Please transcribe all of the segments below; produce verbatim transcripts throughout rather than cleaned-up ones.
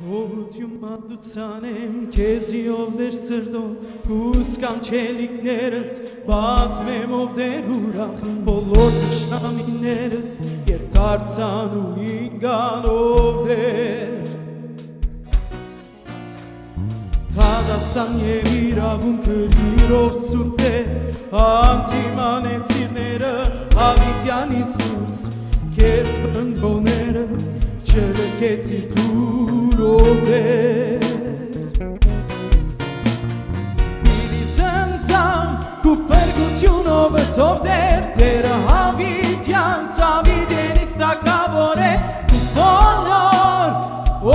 Գոհութիւն մատուցանեմ քեզի, ով Տէր սրտով, կու սքանչելիքներդ պատմեմ, ով Տէր ուրախ, բոլոր թշնամիներդ ետ դարձան ու ինկան, ով Տէր։ Դատաստան եւ իրաւունքը իրով սուրբ է, հանդիմանեց իրները Յաւիտեան Յիսուս, քեզ պնդողները չլքեցիր դուր, ով Տէր։ Պիտի ցնծամ քու փրկութիւնովդ, ով Տէր, Տէրը Յաւիտեան Դաւիդենից թագաւոր է, քու բոլոր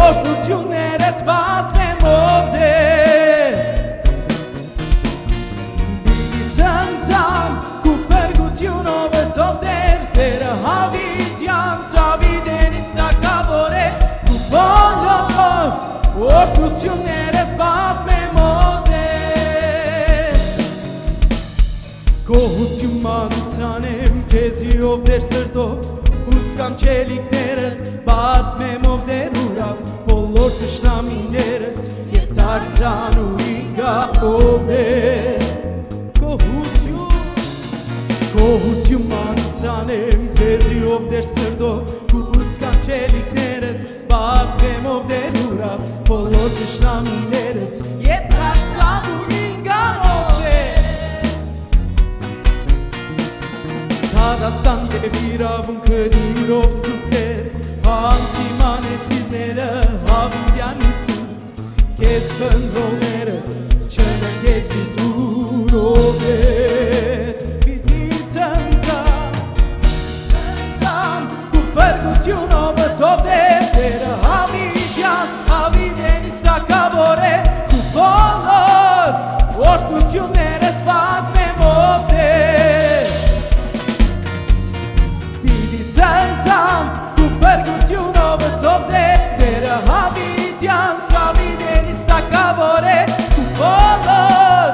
օրհնութիւններդ պատմեմ, ով Տէր։ Պիտի ցնծամ քու փրկութիւնովդ, ով Տէր, Տէրը Յաւիտեան Դաւիդենից թագաւոր է, քու բոլոր օրհնութիւններդ պատմեմ, ով Տէր։ Գոհութիւն մատուցանեմ քեզի, ով Տէր սրտով, ու սքանչելիքներդ պատմեմ, ով Տէր ուրախ, բոլոր թշնամիներս ետ դարձան ու ինկան, ով Տէր։ Գոհութիւն, գոհութիւն մատուցանեմ քեզի, ով Տէր սրտով, ու սքանչելիքներդ պատմեմ, ով Տէր ուրախ, բոլոր թշնամիներս ետ դարձան ու ինկան, ով Տէր։ Դատաստան եւ իրաւունքը իրով սուրբ է, հանդիմանեց իրները Յաւիտեան Յիսուս, քեզ պնդողները չնկեցիր դուր, ով Տէր։ Պիտի ցնծամ, ցնծամ քու փրկութիւնովդ, ով Տէր, Տէրը Յաւիտեան Դաւիդենից թագաւոր է, քու բոլոր օրհնութիւններդ պատմեմ, ով Տէր։ Պիտի ցնծամ քու փրկութիւնովդ, ով Տէր, Տէրը Յաւիտեան Դաւիդենից թագաւոր է, քու բոլոր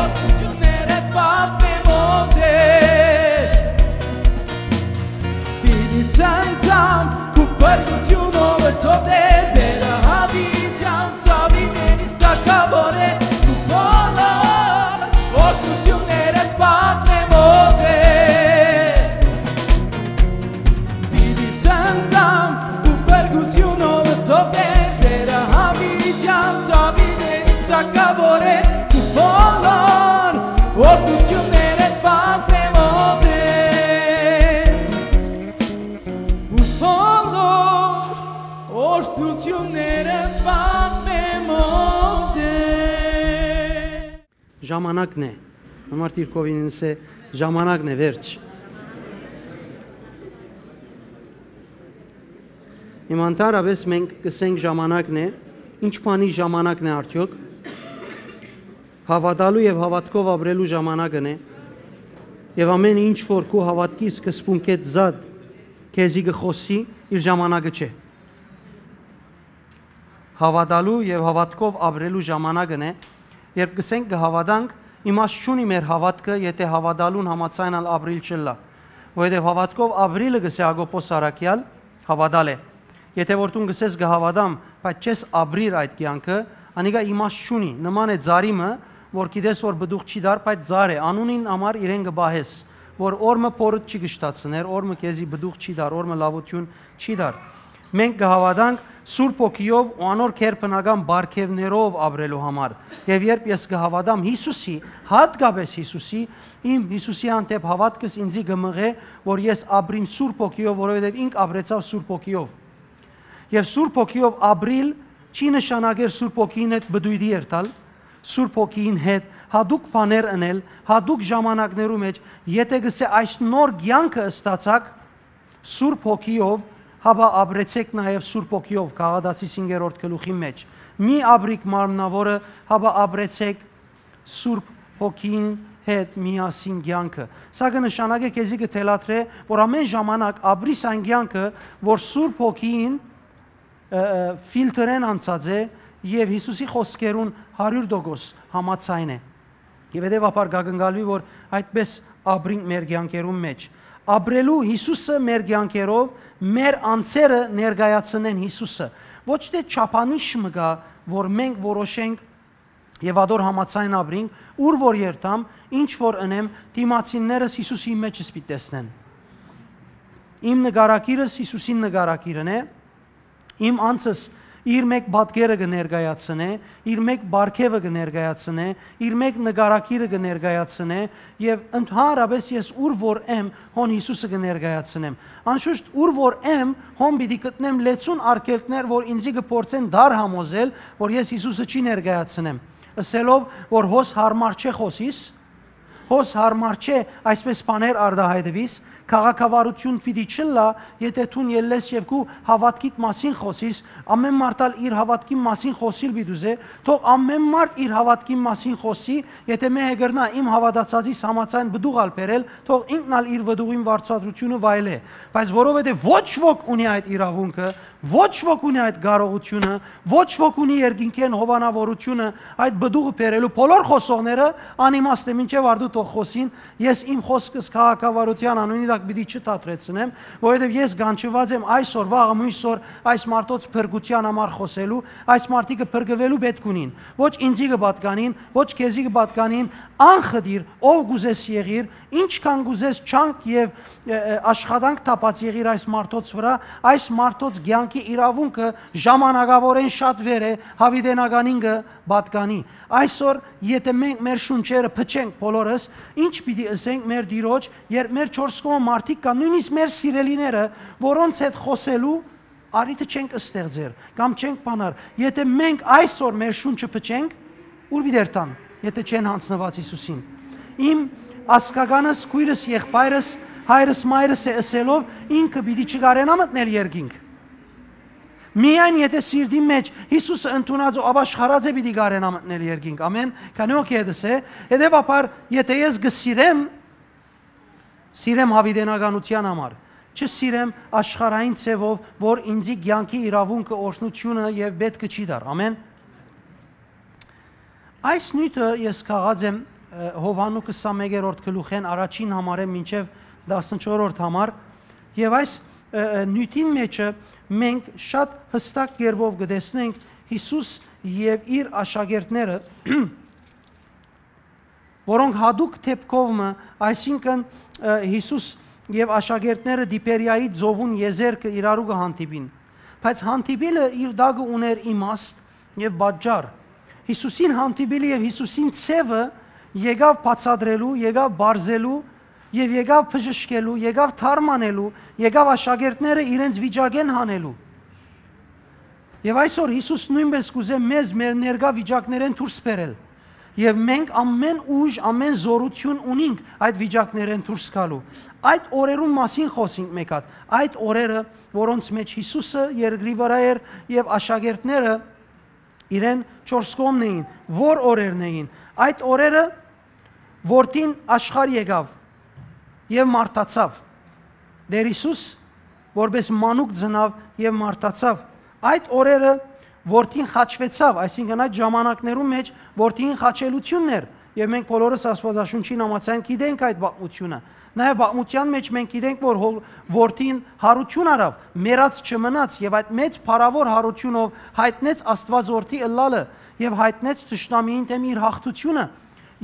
օրհնութիւններդ պատմեմ, ով Տէր։ Պիտի ցնծամ քու փրկութիւնովդ, ով Տէր, Տէրը Յաւիտեան Դաւիդենից թագաւոր է, քու բոլոր օրհնութիւններդ պատմեմ, ով Տէր։ Պիտի ցնծամ քու փրկութիւնովդ, ով Տէր, Տէրը Յաւիտեան Դաւիդենից թագաւոր է, քու բոլոր օրհնութիւններդ պատմեմ, ով Տէր։ Ու բոլոր օրհնութիւններդ պատմեմ, ով Տէր։ Ժամանակն է։ Համար դիրքովին ինձ է, ժամանակն է, վերջ։ Հիմա ընդհանրապես մենք կսենք ժամանակն է, ինչ բանի ժամանակն է արդյոք։ Հաւատալու եւ հաւատքով ապրելու ժամանակն է, եւ ամեն ինչ որ քու հաւատքի սկզբունքէ զատ քեզի կը խօսի, իր ժամանակը չէ։ Հաւատալու եւ հաւատքով ապրելու ժամանակն է, երբ կսենք կը հաւատանք, իմաստ չունի մեր հաւատքը, եթէ հաւատալուն համաձայն ալ ապրիլ չըլլայ, որովհետեւ հաւատքով ապրիլը, կսէ Յակոբոս առաքեալ, հաւատալ է։ Եթէ որ դուն կսես կը հաւատամ, բայց չես ապրիր այդ կեանքը, անիկա իմաստ չունի, նման է ծառի մը, որ գիտես որ պտուղ չի տար, բայց ծառ է, անունին համար իրեն կը պահես, որ օր մը փորդ չի կշտացներ, օր մը քեզի պտուղ չի տար, օր մը լաւութիւն չի տար։ Մենք կը հաւատանք Սուրբ Հոգիով ու անոր գերբնական պարգեւներով ապրելու համար։ Եւ երբ ես կը հաւատամ Յիսուսի, յատկապես Յիսուսի, իմ Յիսուսի հանդէպ հաւատքս ինձի կը մղէ, որ ես ապրիմ Սուրբ Հոգիով, որովհետեւ ինք ապրեցաւ Սուրբ Հոգիով։ Եւ Սուրբ Հոգիով ապրիլ չի նշանակեր Սուրբ Հոգին հետ պտույտի երթալ, Սուրբ Հոգին հետ հատուկ բաներ ընել, հատուկ ժամանակներու մէջ, եթէ կսէ այս նոր կեանքը ստացաք Սուրբ Հոգիով, հապա ապրեցէք նաեւ Սուրբ Հոգիով, Գաղատացիս հինգերորդ գլուխի մէջ։ Մի ապրիք մարմնաւորը, հապա ապրեցէք Սուրբ Հոգին հետ միասին կեանքը։ Սա կը նշանակէ, քեզի կը թելադրէ, որ ամեն ժամանակ ապրիս այն կեանքը, որ Սուրբ Հոգին, ը, ը, ֆիլտրեն անցած է եւ Յիսուսի խօսքերուն հարիւր տոկոս համաձայն է։ Եւ հետեւաբար կակնկալուի, որ այդպես ապրինք մեր կեանքերուն մէջ։ Ապրելու Յիսուսը մեր կեանքերով, մեր անձերը ներկայացնեն Յիսուսը։ Ոչ թէ չափանիշ մը կայ, որ մենք որոշենք եւ ատոր համաձայն ապրինք, ուր որ երթամ, ինչ որ ընեմ, դիմացիններս Յիսուսին մէջս պիտի տեսնեն։ Իմ նկարագիրս Յիսուսին նկարագիրն է, իմ անձս իր մէկ պատկերը կը ներկայացնէ, իր մէկ պարգեւը կը ներկայացնէ, իր մէկ նկարագիրը կը ներկայացնէ, եւ ընդհանրապէս ես ուր որ եմ, հոն Յիսուսը կը ներկայացնեմ։ Անշուշտ, ուր որ եմ, հոն պիտի գտնեմ լեցուն արգելքներ, որ ինձի կը փորձեն դար համոզել, որ ես Յիսուսը չի ներկայացնեմ, ըսելով, որ հոս յարմար չէ խօսիս, հոս յարմար չէ այսպէս բաներ արտահայտուիս, քաղաքավարութիւն պիտի չըլլայ, եթէ դուն ելլես եւ քու հաւատքիդ մասին խօսիս, ամէն մարդ ալ իր հաւատքին մասին խօսիլ պիտի ուզէ, թող ամէն մարդ իր հաւատքին մասին խօսի, եթէ մէ կրնայ իմ հաւատացածիս համաձայն պտուղ ալ բերել, թող ինքն ալ իր պտուղին վարձատրութիւնը վայելէ։ Բայց որովհետեւ ոչ ոք ունի այդ իրաւունքը, ոչ ոք ունի այդ կարողութիւնը, ոչ ոք ունի երկնքէն հովանաւորութիւնը այդ պտուղը բերելու։ Բոլոր խօսողները անիմաստ է, մինչեւ արդու թող խօսին, ես իմ խօսքս քաղաքավարութեան անունի տակ պիտի չդադրեցնեմ, որովհետեւ ես կանչուած եմ այսօր, վաղը, մոյսօր այս մարդոց փրկութեան համար խօսելու, այս մարդիկը փրկուելու պէտք ունին, ոչ ինձի կը պատկանին, ոչ քեզի կը պատկանին, անխտիր, ով կ'ուզես եղիր, ինչքան կ'ուզես չանք եւ, ը, ը, աշխատանք թափած եղիր այս մարդոց վրայ, այս մարդոց կեանքի իրաւունքը ժամանակաւորէն շատ վեր է, յաւիտենականին կը պատկանի։ Այսօր, եթէ մենք մեր շունչերը փչենք բոլորս, ինչ պիտի ըսենք մեր Տիրոջ, երբ մեր չորս կողմը մարդիկ կան, նոյնիսկ մեր սիրելիները, որոնց հետ խօսելու առիթը չենք ստեղծեր կամ չենք բանար, եթէ մենք այսօր մեր շունչը փչենք, ուր պիտի երթան, եթէ չեն յանձնուած Յիսուսին։ Իմ ազգականս, քոյրս, եղբայրս, հայրս, մայրս է ըսելով, ինքը պիտի չկարենայ մտնել երկինք։ Միայն եթէ սիրտին մէջ Յիսուսը ընդունած ու ապաշխարած է, պիտի կարենայ մտնել երկինք։ Ամեն։ Քանի օ կեդս է, հետեւաբար, եթէ ես կը սիրեմ, սիրեմ յաւիտենականութեան համար, չսիրեմ աշխարհային ձևով, որ ինձի կեանքի իրաւունքը, օրհնութիւնը եւ պէտքը չի տար։ Ամեն։ Այս նիւթը ես քաղած եմ, ը, Յովհաննու քսանմեկերորդ գլուխէն առաջին համարէն մինչեւ տասնչորրորդ համար, եւ այս, ը, ը, նիւթին մէջը մենք շատ յստակ կերպով կը տեսնենք Յիսուս եւ իր աշակերտները, որոնք յատուկ դէպքով մը, այսինքն, ը, Յիսուս եւ աշակերտները Տիբերիայի ծովուն եզերքը իրարու կը հանդիպին։ Բայց հանդիպիլը իր տակը ունէր իմաստ եւ պատճառ։ Յիսուսին հանդիպիլը եւ Յիսուսին ձեւը եկաւ բացատրելու, եկաւ պարզելու եւ եկաւ բժշկելու, եկաւ թարմ անելու, եկաւ աշակերտները իրենց վիճակէն հանելու։ Եւ այսօր Յիսուս նոյնպէս կ'ուզէ մեզ մեր ներկայ վիճակներէն դուրս բերել։ Եւ մենք ամեն ուժ, ամեն զօրութիւն ունինք այդ վիճակներէն դուրս գալու։ Այդ օրերուն մասին խօսինք մէկ հատ։ Այդ օրերը, որոնց մէջ Յիսուսը երկրի վրայ էր եւ աշակերտները իրեն չորս կողմն էին, որ օրերն էին։ Այդ օրերը որդին աշխարհ եկաւ եւ մարդացաւ։ Տէր Յիսուս որպէս մանուկ ծնաւ եւ մարդացաւ։ Այդ օրերը որդին խաչուեցաւ, այսինքն, այդ ժամանակներուն մէջ որդին խաչելութիւնն էր, եւ մենք բոլորս Աստուածաշունչին համաձայն գիտենք այդ պատմութիւնը։ Նաեւ պատմութեան մէջ մենք գիտենք, որ հոլ-, որդին յարութիւն առաւ, մեռած չմնաց, եւ այդ մեծ փառաւոր յարութիւնով յայտնեց Աստուած որդի ըլլալը եւ յայտնեց թշնամիին դէմ իր յաղթութիւնը։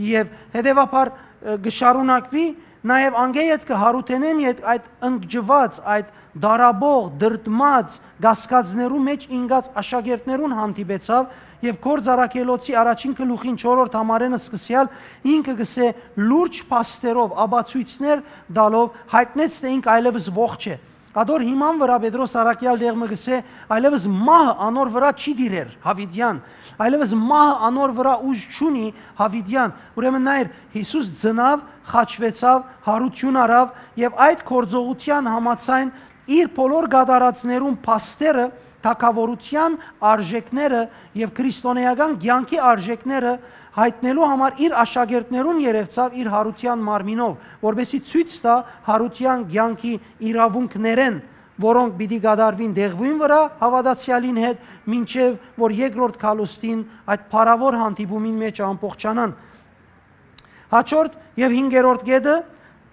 Եւ հետեւաբար, ը, կը շարունակուի, նաեւ անկէ ետքը յարութենէն ետք այդ ընկճուած, այդ դարաբող, դրդմած կասկածներու մէջ ինկած աշակերտներուն հանդիպեցաւ եւ Գործ Առաքելոցի առաջին գլուխին չորրորդ համարէն սկսեալ ինքը կսէ լուրջ փաստերով, ապացոյցներ տալով յայտնեց, թէ ինք այլեւս ողջ է։ Ատոր հիման վրայ Պետրոս առաքեալ դեղ մը կսէ, այլեւս մահը անոր վրայ չի տիրեր, յաւիտեան, այլեւս մահը անոր վրայ ուժ չունի, յաւիտեան։ Ուրեմն նայր, Յիսուս ծնաւ, խաչուեցաւ, յարութիւն առաւ եւ այդ գործողութեան համաձայն իր բոլոր կատարածներուն փաստերը, թագաւորութեան արժեքները եւ քրիստոնէական կեանքի արժեքները յայտնելու համար իր աշակերտներուն երեւցաւ իր յարութեան մարմինով, որպեսզի ցոյց տայ յարութեան կեանքի իրաւունքներէն, որոնք պիտի կատարուին դեղուին վրայ հաւատացեալին հետ, մինչեւ որ երկրորդ գալուստին այդ փառաւոր հանդիպումին մէջ ամբողջանան։ Հաջորդ եւ հինգերորդ կետը,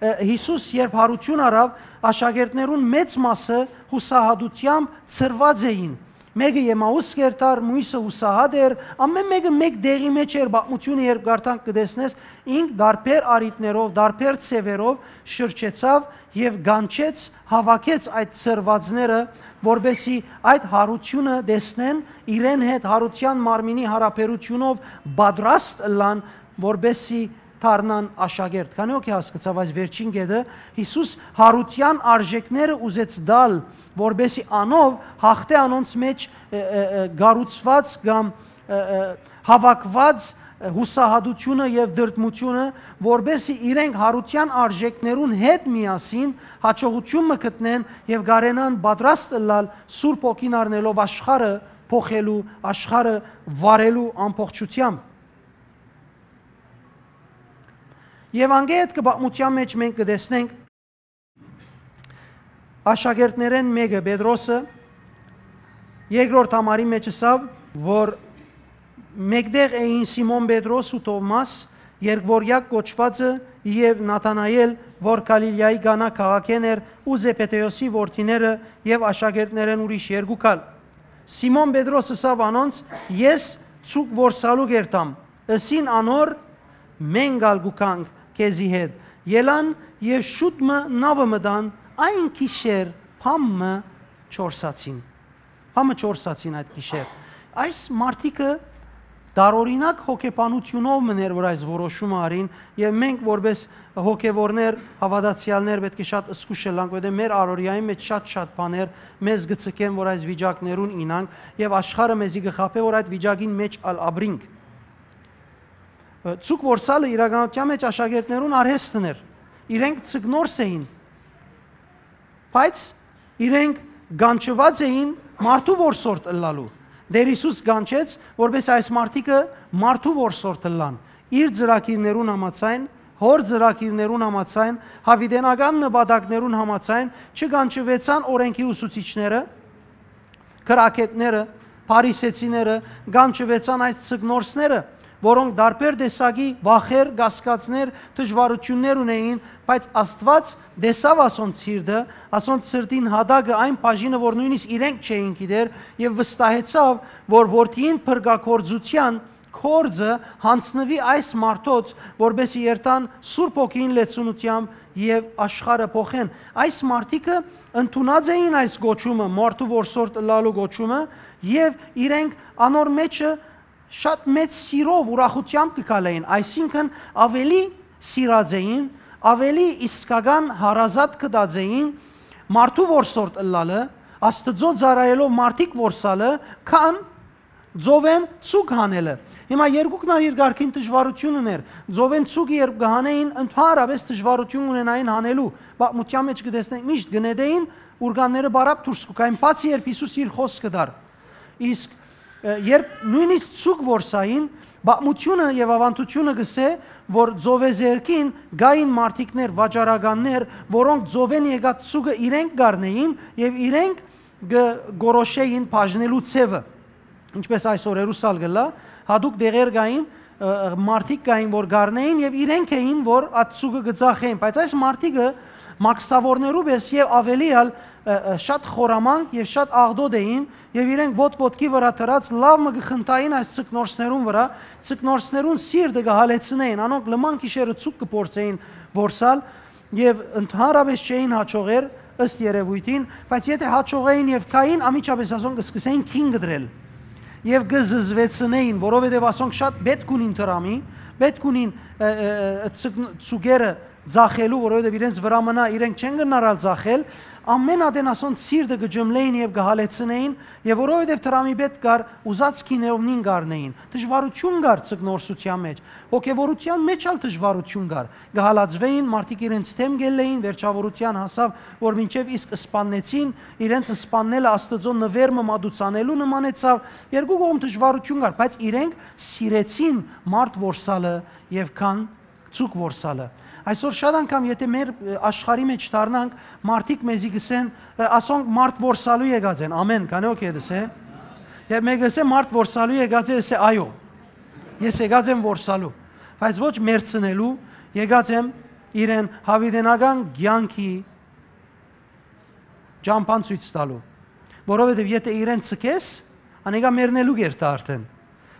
ը, Յիսուս երբ յարութիւն առաւ, աշակերտներուն մեծ մասը յուսահատութեամբ ցրուած էին, Մէկը Եմաուս կ'երթար, միւսը յուսահատ էր, ամէն մէկը մէկ տեղի մէջ էր, պատմութիւնը երբ կարդանք կը տեսնես, ինք տարբեր առիթներով, տարբեր ձեւերով շրջեցաւ եւ կանչեց, հաւաքեց այդ սրուածները, որպեսզի այդ յարութիւնը տեսնեն, իրեն հետ յարութեան մարմինի յարաբերութիւնով պատրաստ ըլլան, որպեսզի դառնան աշակերտ։ Քանի՞ հոգի հասկցաւ այս վերջին կետը, Յիսուս յարութեան արժեքները ուզեց տալ, որպեսզի անով հաղթէ անոնց մէջ, ը, ը, ը, կառուցուած կամ, ը, ը, հաւաքուած, ը, յուսահատութիւնը եւ դրդմութիւնը, որպեսզի իրենք յարութեան արժեքներուն հետ միասին յաջողութիւն մը գտնեն եւ կարենան պատրաստ ըլլալ Սուրբ Հոգին առնելով աշխարհը փոխելու, աշխարհը վարելու ամբողջութեամբ։ Եւանգելիա կը պատմութեան մէջ մենք կը տեսնենք աշակերտներէն մէկը, Պետրոսը, երկրորդ համարի մէջ ըսաւ, որ մէկտեղ էին Սիմոն Պետրոս ու Թովմաս, երկվորեակ կոչուածը, եւ Նաթանայել, որ Գալիլիայի Կանա քաղաքէն էր, ու Զեբեդէոսի որդիները եւ աշակերտներէն ուրիշ երկուք ալ։ Սիմոն Պետրոս ըսաւ անոնց. «Ես ձուկ որսալու կ'երթամ»։ Ըսին անոր. «Մենք ալ կու գանք քեզի հետ»։ Ելան եւ շուտ մը նաւը մտան, այն գիշեր բան մը չորսացին։ Բան մը չորսացին այդ գիշեր։ Այս մարդիկը տարօրինակ հոգեբանութիւնով մըն էր, որ այս որոշումը առին, եւ մենք որպէս հոգեվորներ, հաւատացեալներ պէտք է շատ զգուշ ըլլանք, որովհետեւ մեր առօրեային մէջ շատ-շատ բաներ մեզ կը ցկեն, որ այս վիճակներուն իյնանք, եւ աշխարհը մեզի կը խաբէ, որ այդ վիճակին մէջ ալ ապրինք։ Ը, ձուկ որսալը իրականութեան մէջ աշակերտներուն արհեստն էր։ Իրենք ձկնորս էին, բայց իրենք կանչուած էին մարդու որսորդ ըլլալու։ Տէր Յիսուս կանչեց, որպէս այս մարդիկը մարդու որսորդ ըլլան, իր ծրագիրներուն համաձայն, հոր ծրագիրներուն համաձայն, յաւիտենական նպատակներուն համաձայն, չկանչուեցան օրէնքի ուսուցիչները, գրագէտները, փարիսեցիները, կանչուեցան այս ձկնորսները, որոնք տարբեր տեսակի վախեր, կասկածներ, դժուարութիւններ ունէին, բայց Աստուած տեսաւ ասոնց սիրտը, ասոնց սրտին յատակը, այն բաժինը, որ նոյնիսկ իրենք չէին գիտեր, եւ վստահեցաւ, որ որդիին փրկագործութեան գործը յանձնուի այս մարդոց, որպէսզի երթան Սուրբ Հոգիին լեցունութեամբ եւ աշխարհը փոխեն։ Այս մարդիկը ընդունած էին այս կոչումը, մարդու որսորդ ըլլալու կոչումը, եւ իրենք անոր մէջը շատ մեծ սիրով, ուրախութեամբ կը քալէին, այսինքն՝ աւելի սիրած էին, աւելի իսկական հարազատ գտած էին մարդու որսորդ ըլլալը, Աստուծոյ ծառայելով մարդիկ որսալը, քան ծովէն ձուկ հանելը։ Հիմա երկուքն ալ իր կարգին դժուարութիւն ուներ։ Ծովէն ձուկը երբ կը հանէին, ընդհանրապէս դժուարութիւն ունենային հանելու։ Պատմութեան մէջ կը տեսնենք, միշտ կը նետէին, ուրկանները պարապ դուրս կու գային, բացի երբ Յիսուս իր խօսքը տար։ Իսկ, ը, երբ նոյնիսկ ձուկ որսային, պատմութիւնը եւ աւանդութիւնը կ'ըսէ, որ ծովեզերքին կային մարդիկներ, վաճառականներ, որոնք ծովէն եկած ձուկը իրենք կ'առնէին եւ իրենք կը գորոշէին բաժնելու ձեւը, ինչպես այսօր Երուսալ կ'ըլլայ, յատուկ տեղեր կային, ը, մարդիկ կային, որ կ'առնէին եւ իրենք էին, որ այդ ձուկը կը ծախէին, բայց այս մարդիկը մաքսաւորներու պէս եւ աւելի ալ, ը, ը, շատ խորամանկ եւ շատ աղտոտ էին եւ իրենք ոտք ոտքի վրայ դրած լաւ մը կը խնդային այս ձկնորսներուն վրայ, ձկնորսներուն սիրտը կը հալեցնէին, անոնք լման գիշերը ձուկ կը փորձէին որսալ, եւ ընդհանրապէս չէին յաջողեր ըստ երեւոյթին, բայց եթէ յաջողէին եւ գային, անմիջապէս ասոնք կը սկսէին քին կտրել եւ կը զզվեցնէին, որովհետեւ ասոնք շատ պէտք ունին դրամի, պէտք ունին, ը, ը, ը, ցկ-, ցուկերը ձախելու, որովհետեւ իրենց վրայ մնայ, իրենք չեն կրնար ալ ձախել, ամէն ատեն ասոնց սիրտը կը ջմլէին եւ կը հալեցնէին, եւ որովհետեւ դրամի պէտք կար, ուզած քիներովնին կ'առնէին։ Դժուարութիւն կար ձկնորսութեան մէջ, հոգեվորութեան մէջ ալ դժուարութիւն կար։ Կը հալածուէին, մարդիկ իրենց դէմ կ'ելլէին, վերջաւորութեան հասաւ, որ մինչեւ իսկ սպաննեցին, իրենց սպաննելը Աստուծոյ նուէր մը մատուցանելու նմանեցաւ, երկու կողմ դժուարութիւն կար, բայց իրենք սիրեցին մարդ որսալը եւ քան ձուկ որսալը։ Այսօր շատ անգամ, եթէ մեր, ը, աշխարհի մէջ դառնանք, մարդիկ մեզի կ'ըսեն, ը, ասոնք մարդ որսալու եկած են, ամէն, քանի՞ հոգի է դսե։ Երբ մէկը ըսէ, «Մարդ որսալու եկած է», ըսէ, «Այո, ես եկած եմ որսալու, բայց ոչ մեռցնելու, եկած եմ իրեն յաւիտենական կեանքի ճամբան ցոյց տալու»։ որովհետեւ եթէ իրեն ցկես, անիկա մեռնելու կ'երթայ արդէն։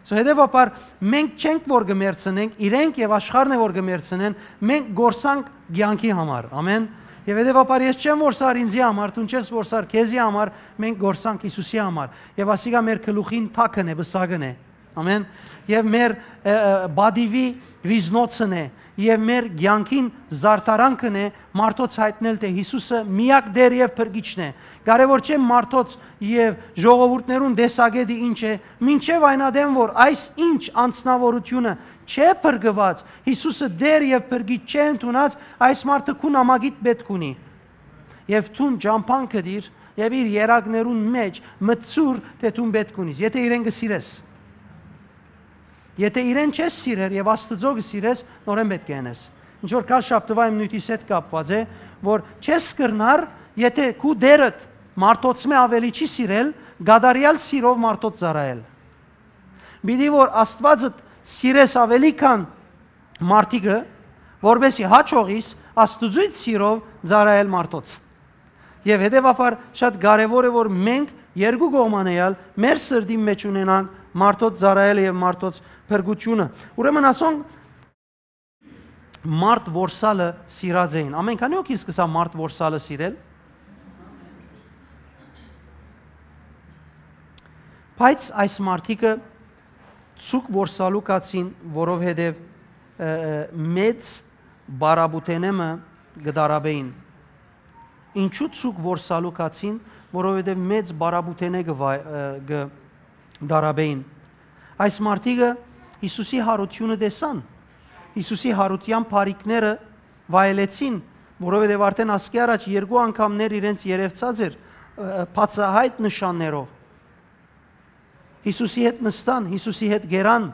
So, հետեւաբար, մենք չենք որ կը մեռցնենք, իրենք եւ աշխարհն է որ կը մեռցնեն, մենք կորսանք կեանքի համար։ Ամեն։ Եւ հետեւաբար ես չեմ որսար ինձի համար, դուն չես որսար քեզի համար, մենք կորսանք Յիսուսի համար։ Եւ ասիկա մեր գլուխին թակն է, պսակն է։ Ամեն։ Եւ մեր, ը, ը, բադիվի վիզնոցն է, եւ մեր կեանքին զարդարանքն է մարդոց յայտնել, թէ Յիսուսը միակ Տէր եւ Փրկիչն է։ Կարեւոր չէ մարդոց եւ ժողովուրդներուն տեսակէտը ինչ է, մինչեւ այն ատեն որ այս ինչ անձնաւորութիւնը չէ փրկուած, Յիսուսը Տէր եւ Փրկիչ չէ ընդունած, այս մարդը քու նամակիդ պէտք ունի։ Եւ դուն ճամբան գտիր եւ իր երակներուն մէջ մտցուր, թէ դուն պէտք ունիս, եթէ իրեն կը սիրես։ Եթէ իրեն չես սիրեր եւ Աստուծոյ կը սիրես, նորէն պէտք է ընես։ Ինչ որ քա շաբթուայ իմ նիւթիս հետ կապուած է, որ չես կրնար, եթէ քու Տէրդ մարդոցմէ աւելի չի սիրել, կատարեալ սիրով մարդոց ծառայել։ Պիտի որ Աստուածդ սիրես աւելի քան մարդիկը, որպեսզի հաճողիս Աստուծոյ սիրով ծառայել մարդոց։ Եւ հետեւաբար շատ կարեւոր է որ մենք երկու կողմանեալ մեր սրտին մէջ ունենանք մարդոց ծառայելը եւ մարդոց փրկութիւնը։ Ուրեմն ասոնք մարդ որսալը սիրած էին։ Ամենքանի հոգին սկսա մարդ որսալը սիրել։ Բայց այս մարդիկը ցուկ որսալու կացին, որովհետեւ, ը, ը, մեծ բարապուտենեմը կը դարաբեին։ Ինչու ցուկ որսալու կացին, որովհետեւ մեծ բարապուտենե կը վայ-, ը, կը դարաբեին։ Այս մարդիկը Յիսուսի յարութիւնը տեսան, Յիսուսի յարութեան բարիքները վայելեցին, որովհետեւ արդէն ասկէ առաջ երկու անգամներ իրենց երեւցած էր, ը, բացայայտ նշաններով։ Յիսուսի հետ նստան, Յիսուսի հետ գերան,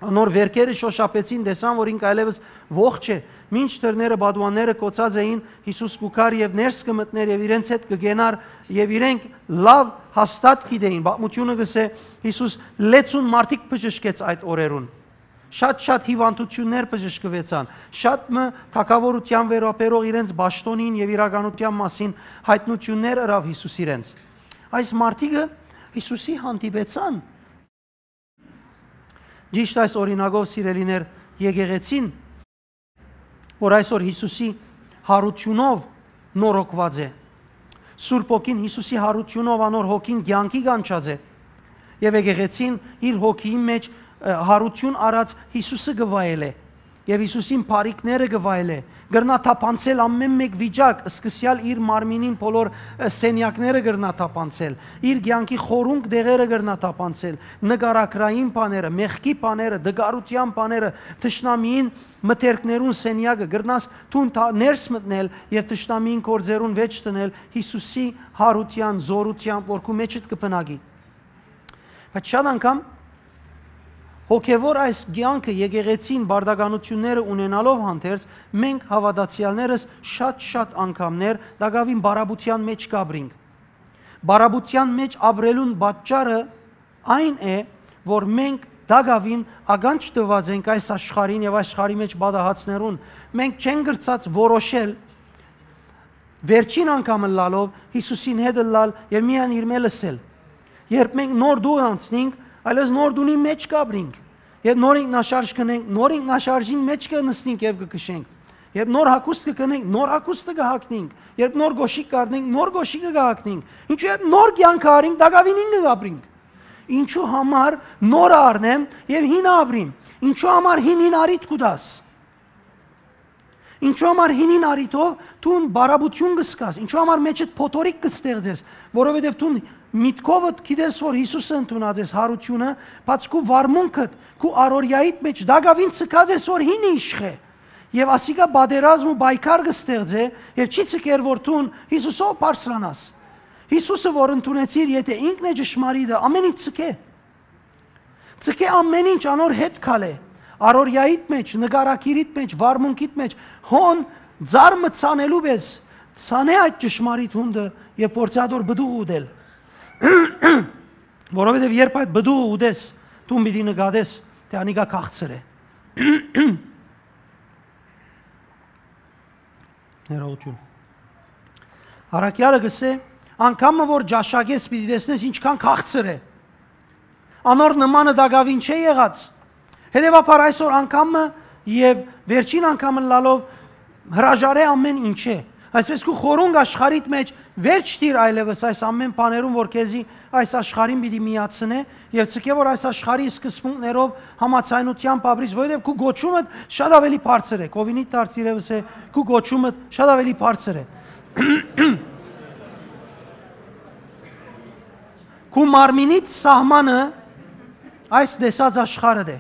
անոր վերքերը շոշափեցին, տեսան որ ինք այլեւս ողջ է, մինչ դռները բադուանները կոցած էին, Յիսուս կու գար եւ ներս կը մտնէր եւ իրենց հետ կը գենար, եւ իրենք լաւ հաստատ գիտէին, պատմութիւնը կ'ըսէ, Յիսուս լեցուն մարդիկ բժշկեց այդ օրերուն։ Շատ-շատ հիւանդութիւններ բժշկուեցան, շատ մը թագաւորութեան վերաբերող իրենց պաշտօնին եւ իրականութեան մասին յայտնութիւններ ըրաւ Յիսուս իրենց։ Այս մարդիկը Յիսուսի հանդիպեցան։ Ճիշդ այս օրինակով, սիրելիներ, եկեղեցին, որ այսօր Յիսուսի յարութիւնով նորոգուած է, Սուրբ Հոգին Յիսուսի յարութիւնով անոր հոգին կեանքի կանչած է, եւ եկեղեցին իր հոգիին մէջ, ը, յարութիւն առած Յիսուսը կը վայելէ, եւ Յիսուսին բարիքները կը վայելէ, կրնայ թափանցել ամէն մէկ վիճակ, սկսեալ իր մարմինին բոլոր, ը, սենեակները կրնայ թափանցել, իր կեանքի խորունկ տեղերը կրնայ թափանցել, նկարագրային բաները, մեղքի բաները, դգարութեան բաները, թշնամիին մթերքներուն սենեակը, կրնաս դուն թա-, ներս մտնել եւ թշնամիին գործերուն վէջ դնել Յիսուսի յարութեան, զօրութեան, որ քու մէջդ կը բնակի։ Բայց շատ անգամ հոգեւոր այս կեանքը, եկեղեցին բարդականութիւնները ունենալով հանդերձ, մենք հաւատացեալներս շատ-շատ անգամներ տակաւին բարապուտեան մէջ կ'ապրինք։ Բարապուտեան մէջ ապրելուն պատճառը այն է, որ մենք տակաւին ականջ տուած ենք այս աշխարհին եւ աշխարհի մէջ պատահածներուն։ Մենք չենք կրցած որոշել վերջին անգամ ըլլալով Յիսուսին հետ ըլլալ եւ միայն իրմէ լսել։ Երբ մենք նոր դուռ անցնենք, այլեւս նոր դունի մէջ կ'ապրինք։ Երբ նոր ինքնաշարժ կ'ընենք, նոր ինքնաշարժին մէջ կը նստենք եւ կը քշենք։ Երբ նոր հագուստ կը կնենք, նոր հագուստը կը հագնենք։ Երբ նոր կոշիկ կ'առնենք, նոր կոշիկը կը հագնենք։ Ինչու՞ երբ նոր կեանքը առինք, տակաւին ինքը կ'ապրինք։ Ինչու համար նորը առնեմ եւ հինը ապրիմ։ Ինչու համար հինին առիթ կու տաս։ Ինչու՞ համար հինին առիթով դուն բարապուտիւն կը զգաս, ինչու՞ համար մէջդ փոթորիկ կը ստեղծես, որովհետեւ դուն միտքովդ գիտես որ Յիսուսը ընդունած ես յարութիւնը, բայց քու վարմունքդ, քու առօրեայիդ մէջ տակաւին ցկած ես որ հինը իշխէ։ Եւ ասիկա պատերազմ ու պայքար կը ստեղծէ եւ չի ցկեր որ դուն Յիսուսով բարձրանաս։ Յիսուսը որ ընդունեցիր, եթէ ինքն է ճշմարիտը, ամէն ինչ ցկէ։ Ցկէ ամէն ինչ անոր հետ քալէ, առօրեայիդ մէջ, նկարագիրիդ մէջ, վարմունքիդ մէջ, հոն ձար մը ցանելու պէս, ցանէ այդ ճշմարիտ հունդը եւ փորձի ատոր պտուղ ուտել։ Որովհետեւ երբ այդ պտուղը ուտես, դուն պիտի նկատես, թէ անիկա քաղցր է։ Ներողություն։ Առաքեալը կ'ըսէ, Անգամ մը որ ճաշակես, պիտի տեսնես ինչքան քաղցր է։ Անոր նմանը տակաւին չէ եղած։ Հետեւաբար այսօր անգամ մը եւ վերջին անգամ ըլլալով հրաժարէ ամէն ինչէ։ Այսպես քու խորունկ աշխարհիդ մէջ վերջ դիր այլեւս այս ամէն բաներուն, որ քեզի այս աշխարհին պիտի միացնէ, եւ ցկէ որ այս աշխարհի սկզբունքներով համաձայնությամբ ապրիս, որովհետեւ քու գոչումդ շատ ավելի բարձր է, քովինիդ դարձ իրեւս է, քու գոչումդ շատ ավելի բարձր է։ Քու մարմինիդ սահմանը այս տեսած աշխարհդ է։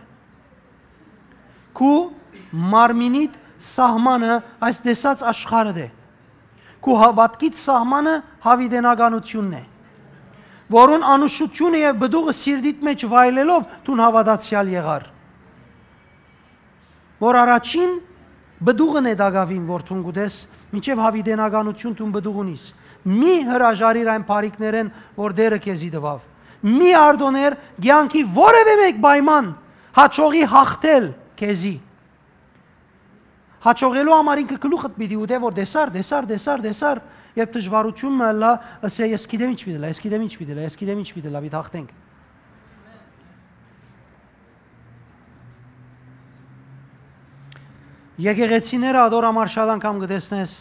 Քու մարմինիդ սահմանը այս տեսած աշխարհդ է։ Քու հաւատքիդ սահմանը յաւիտենականութիւնն է, որուն անուշութիւնը եւ պտուղը սիրտիդ մէջ վայելելով դուն հաւատացեալ եղար, որ առաջին պտուղն է տակաւին, որ դուն կ'ուտես, մինչեւ յաւիտենականութիւն դուն պտուղ ունիս։ Մի հրաժարիր այն բարիքներէն, որ Տէրը քեզի տուաւ։ Մի արտոներ կեանքի որեւէ մէկ պայման հաջողի յաղթել քեզի։ Հաջողելու համար ինքը գլուխդ պիտի ուտէ, որ տեսար, տեսար, տեսար, տեսար, երբ դժվարութիւն մը ըլլայ, ըսէ, «Ես գիտեմ ինչ պիտի ըլլայ, ես գիտեմ ինչ պիտի ըլլայ, ես գիտեմ ինչ պիտի ըլլայ, պիտի հաղթենք»։ Եկեղեցիները ատոր համար շատ անգամ կը տեսնես,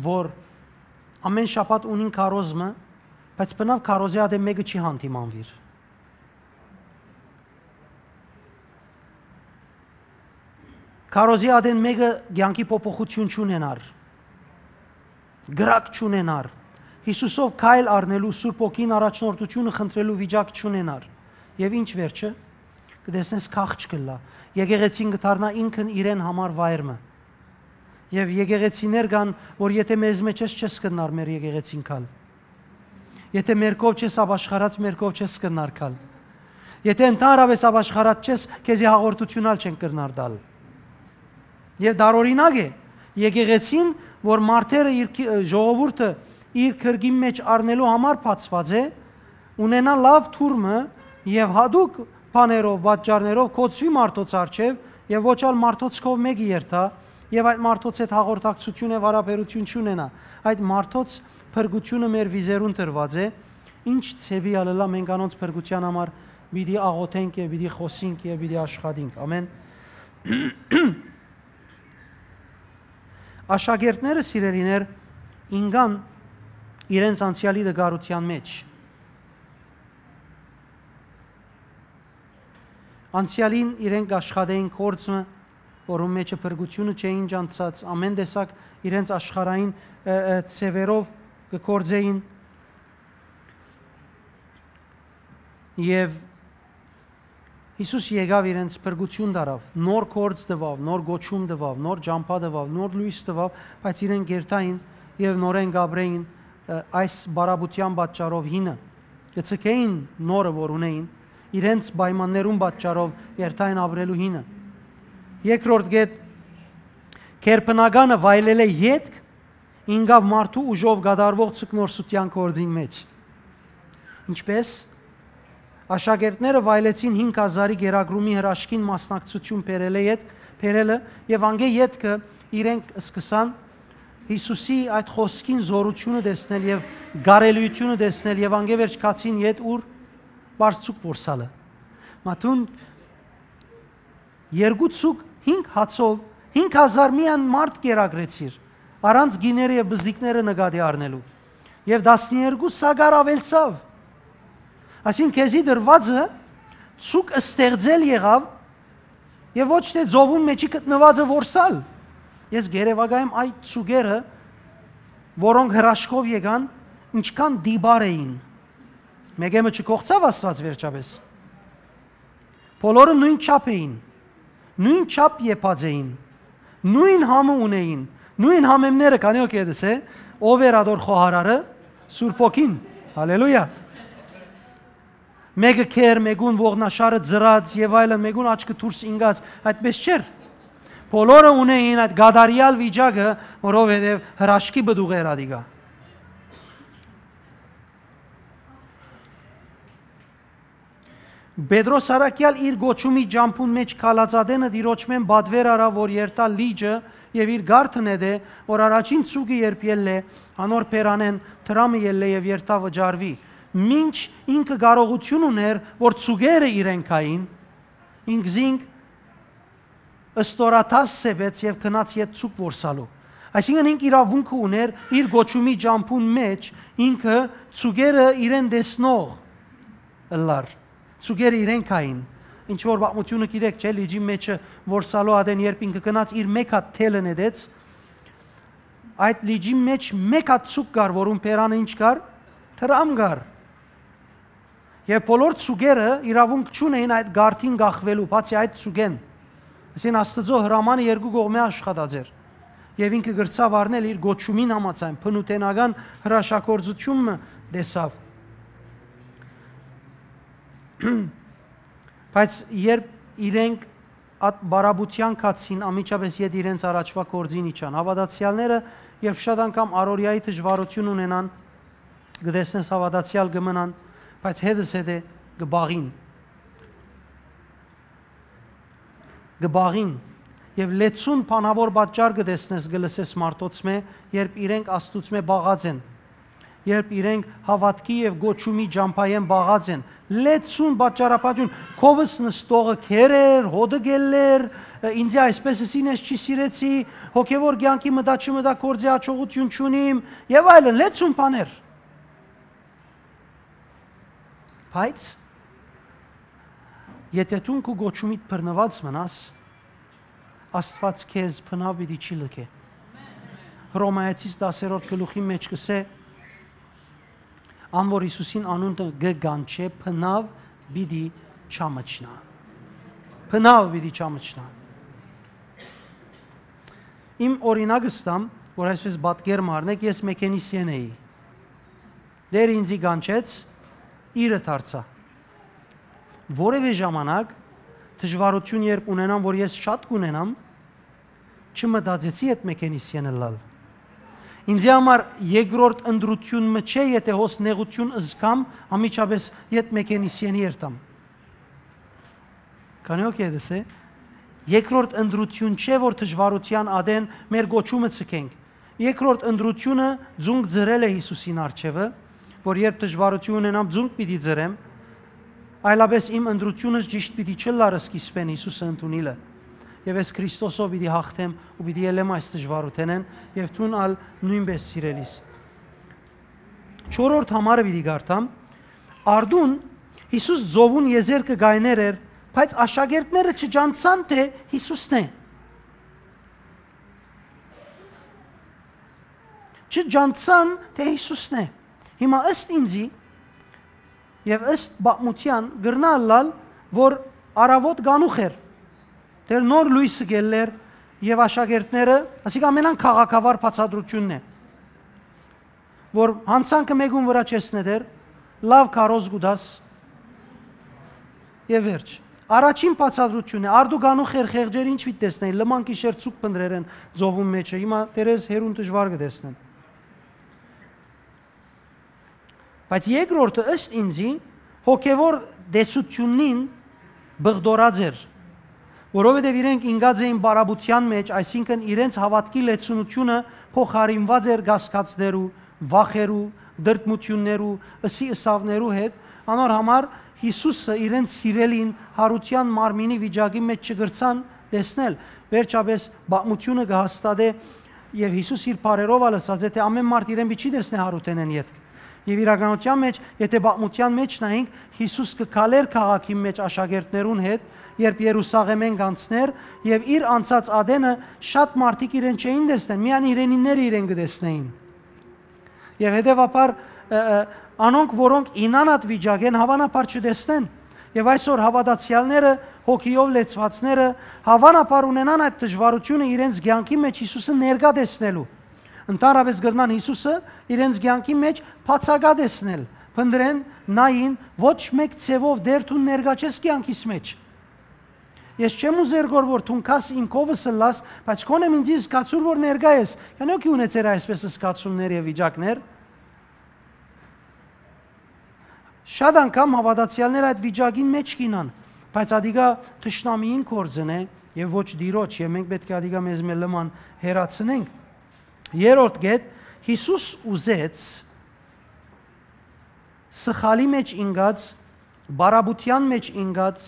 որ ամէն շաբաթ ունին քարոզ մը, բայց բնաւ քարոզի ատեն մէկը չի հանդիմանուիր։ Քարոզի ատեն մէկը կեանքի փոփոխութիւն չունենար, կրակ չունենար, Յիսուսով քայլ առնելու, Սուրբ Հոգին առաջնորդութիւնը խնդրելու վիճակ չունենար։ Եւ ինչ վերջը, կը տեսնես, քաղց կ'ըլլայ։ Եկեղեցին կը դառնայ ինքն իրեն համար վայր մը։ Եւ եկեղեցիներ կան, որ եթէ մեզմէ չես, չես կրնար մեր եկեղեցին գալ։ Եթէ մեր քով չես ապաշխարած, մեր քով չես կրնար գալ։ Եթէ ընդհանրապէս ապաշխարած չես, քեզի հաղորդութիւն ալ չեն կրնար տալ։ Եւ տարօրինակ է, եկեղեցին, որ մարդերը իր քի-, ժողովուրդը իր քրկին մէջ առնելու համար բացուած է, ունենայ լաւ թուր մը եւ յատուկ բաներով, պատճառներով գոցուի մարդոց առջեւ եւ ոչ ալ մարդոց քով մէկը երթայ եւ այդ մարդոց հետ հաղորդակցութիւն եւ յարաբերութիւն չունենայ։ Այդ մարդոց փրկութիւնը մեր վիզերուն տրուած է, ինչ ձեւի ալ ըլլայ, մենք անոնց փրկութեան համար պիտի աղօթենք եւ պիտի խօսենք եւ պիտի աշխատենք։ Ամէն։ Աշակերտները, սիրելիներ, ինկան իրենց անցեալի տկարութեան մէջ։ Անցեալին իրենք աշխատէին գործ մը, որուն մէջը փրկութիւնը չէին ճանչցած, ամէն տեսակ իրենց աշխարհային, ը, ը, ձեւերով կը գործէին։ Եւ Յիսուս եկաւ, իրենց փրկութիւն տառաւ, նոր գործ տուաւ, նոր կոչում տուաւ, նոր ճամբայ տուաւ, նոր լոյս տուաւ, բայց իրենք կ'երթային եւ նորէն կ'ապրէին, ը, այս բարապետութեան պատճառով հինը, կը ձգէին նորը, որ ունէին, իրենց պայմաններուն պատճառով կ'երթային ապրելու հինը։ Երկրորդ կետ, գերբնականը վայելելէ ետք ինկաւ մարդու ուժով կատարուող ձկնորսութեան գործին մէջ։ Ինչպէս, աշակերտները վայելեցին հինգ հազարի կերակրումի հրաշքին մասնակցութիւն բերելէ յետ-, բերելը եւ անկէ ետքը իրենք սկսան Յիսուսի այդ խօսքին զօրութիւնը տեսնել եւ կարելիութիւնը տեսնել եւ անկէ վերջ գացին յետ ուր, պարզ ձուկ որսալը։ Մատուն երկու ձուկ հինգ հացով հինգ հազար միայն մարդ կերակրեցիր, առանց գիները եւ բզդիկները նկատի առնելու։ Եւ տասներկու սակար աւելցաւ։ Այսինքն քեզի դրուածը ձուկ ստեղծել եղաւ եւ ոչ թէ ծովուն մէջի գտնուածը որսալ։ Ես գերեվակայեմ այդ ձուկերը, որոնք հրաշքով եկան, ինչքան տիպար էին։ Մեկը մը չկողցաւ Աստուած վերջապէս։ Բոլորը նոյն չափ էին, նոյն չափ եփած էին, նոյն համը ունէին, նոյն համեմները, քանի որ կեդս է, ով էր ատոր խոհարարը, Սուրբ Հոգին, հալելույա։ Մեկը քեր, մեկուն ողնաշարը ձրած եւ այլն, մեկուն աչքը դուրս ինգած, այդպես չէր։ Բոլորը ունէին այդ կատարյալ վիճակը, որովհետեւ հրաշքի պտուղ էր ադիկա։ Պետրոս առաքեալ իր կոչումի ճամբուն մէջ քալածատենը Տիրոջմէն պատուէր առաւ, որ երթայ լիճը, եւ իր կարթը նետէ, որ առաջին ձուկը երբ ելլէ, անոր բերանէն դրամը ելլէ եւ երթայ վճարուի։ Մինչ ինքը կարողութիւն ունէր, որ ձուկերը իրեն գային, ինքզինք ստորաթաս սեպեց եւ գնաց յետ ձուկ որսալու։ Այսինքն ինք իրաւունքը ունէր իր կոչումի ճամբուն մէջ ինքը ձուկերը իրեն տեսնող ըլլար, ձուկերը իրեն գային, ինչ որ պատմութիւնը գիտեք, չէ՞, լիճի մէջը որսալու ատեն, երբ ինքը գնաց իր մէկ հատ թելը նետեց, այդ լիճի մէջ մէկ հատ ձուկ կար, որուն բերանը ինչ կար, դրամ կար։ Եւ բոլոր ձուկերը իրաւունք չունէին այդ կարթին կախուելու, բացի այդ ձուկէն։ Այսինքն Աստուծոյ հրամանը երկու կողմէ աշխատած էր։ Եւ ինքը կրցաւ առնել իր կոչումին համաձայն, բնութենական հրաշագործութիւն մը տեսաւ։ Բայց երբ իրենք այդ բարապետութեան գացին, անմիջապէս յետ իրենց առաջուայ գործին իջան։ Հաւատացեալները, երբ շատ անգամ առօրեայի դժուարութիւն ունենան, կը տեսնես հաւատացեալ կը մնան, բայց հետզհետէ կը բաղին։ Կը բաղին։ Եւ լեցուն բանաւոր պատճառ կը տեսնես, կը լսես մարդոց մէ, երբ իրենք Աստուծմէ բաղած են, երբ իրենք հաւատքի եւ կոչումի ճամբայէն բաղած են, լեցուն պատճառաբանութիւն, քովս նստողը քեր էր, հոտը գելլեր, ինձի այսպես ըսին, ես չի սիրեցի, հոգեւոր կեանքի մտա չմտա, գործի յաջողութիւն չունիմ, եւ այլն, լեցուն բաներ։ Բայց եթէ դուն քու կոչումիդ բռնուած մնաս, Աստուած քեզ բնաւ պիտի չի լքէ։ Հռոմայեցիս տասերորդ գլուխի մէջ կ'ըսէ, ան որ Յիսուսին անունը կը կանչէ, բնաւ պիտի չամչնայ։ Բնաւ պիտի չամչնայ։ Իմ օրինակ ստամ, որ այսպես պատկեր մը առնեք, ես մեքենիսիեն էի։ Տէրը ինձի կանչեց, իրը դարձայ։ Որեւէ ժամանակ դժուարութիւն երբ ունենամ, որ ես շատ կունենամ, չմտածեցի յետ մեքենիսիեն ըլլալ։ Ինձի համար երկրորդ ընտրութիւն մը չէ, եթէ հոս նեղութիւն զգամ, անմիջապէս յետ մեքենիսիենի երթամ։ Քանի՞ օքեյ դեսե։ Երկրորդ ընտրութիւն չէ, որ դժուարութեան ատեն մեր կոչումը ձգենք։ Երկրորդ ընտրութիւնը ձունկ ձրելը Յիսուսին առջեւը, որ երբ դժուարութիւն ունենամ, ձունկ պիտի ձրեմ, այլապէս իմ ընտրութիւնս ճիշտ պիտի չըլլար սկիզբէն Յիսուսը ընդունիլը։ Եւ ես Քրիստոսով պիտի հաղթեմ ու պիտի ելեմ այս դժուարութենէն, եւ դուն ալ նոյնպէս, սիրելիս։ Չորրորդ համարը պիտի կարդամ։ Արդուն Յիսուս ծովուն եզերքը կայներ էր, բայց աշակերտները չջանցան, թէ Յիսուսն է։ Չջանցան, թէ Յիսուսն է։ Հիմա ըստ ինձի եւ ըստ պատմութեան կրնայ ըլլալ, որ առաւօտ կանուխ էր, դեռ նոր լոյսը գելլեր եւ աշակերտները, ասիկա ամենան քաղաքավար բացատրութիւնն է, որ յանցանքը մէկուն վրայ չես նետեր, լաւ քարոզ կու տաս եւ վերջ։ Առաջին բացատրութիւնն է, արդու կանուխ էր, խեղճեր, ինչ պիտի տեսնեն, լման գիշեր ձուկ փնտռեր են ծովուն մէջը, հիմա տերեզ հեռուն դժուար կը տեսնեն։ Բայց երկրորդը, ըստ ինձի, հոգեվոր տեսութիւնին բղդորած էր, որովհետեւ իրենք ինկած էին բարապետութեան մէջ, այսինքն իրենց հաւատքի լեցունութիւնը փոխարինուած էր կասկածներու, վախերու, տրտմութիւններու, ըսի ըսաւներու հետ, անոր համար Յիսուսը իրենց սիրելին յարութեան մարմինի վիճակի մէջ չկրցան տեսնել։ Վերջապէս պատմութիւնը կը հաստատէ, եւ Յիսուս իր բառերով ալ ըսած է, թէ ամէն մարդ իրեն պիտի չի տեսնէ յարութենէն ետք։ Եւ իրականութեան մէջ, եթէ պատմութեան մէջ նայենք, Յիսուս կը քալէր քաղաքին մէջ աշակերտներուն հետ, երբ Երուսաղէմէն կանցներ, եւ իր անցած ատենը շատ մարդիկ իրեն չէին տեսնեն, միայն իրենինները իրեն կը տեսնէին։ Եւ հետեւաբար, ը, ը, անոնք, որոնք ինանատ վիճակ են, հաւանաբար չտեսնեն։ Եւ այսօր հաւատացեալները, հոգիով լեցուածները, հաւանաբար ունենան այդ դժուարութիւնը իրենց կեանքի մէջ Յիսուսը ներկայ տեսնելու։ Ընդհանրապէս կրնան Յիսուսը իրենց կեանքի մէջ բացակայ տեսնել, փնտռեն, նային, ոչ մէկ ձեւով դեռ դուն ներկայ չես կեանքիս մէջ։ Ես չեմ ուզեր գոր որ դուն քաս իմ քովս ըլլաս, բայց քոնեմ ինձի զգացուր որ ներկայ ես։ Քանի՞ օքի ունեցեր այսպես զգացումներ եւ վիճակներ։ Շատ անգամ հաւատացեալներ այդ վիճակին մէջ կ'ինան, բայց ատիկա թշնամիին գործն է եւ ոչ Տիրոջ, եւ մենք պէտք է ատիկա մեզմէ լման հեռացնենք։ Երրորդ կետ, Յիսուս ուզեց սխալի մէջ ինկած, պարապութեան մէջ ինկած,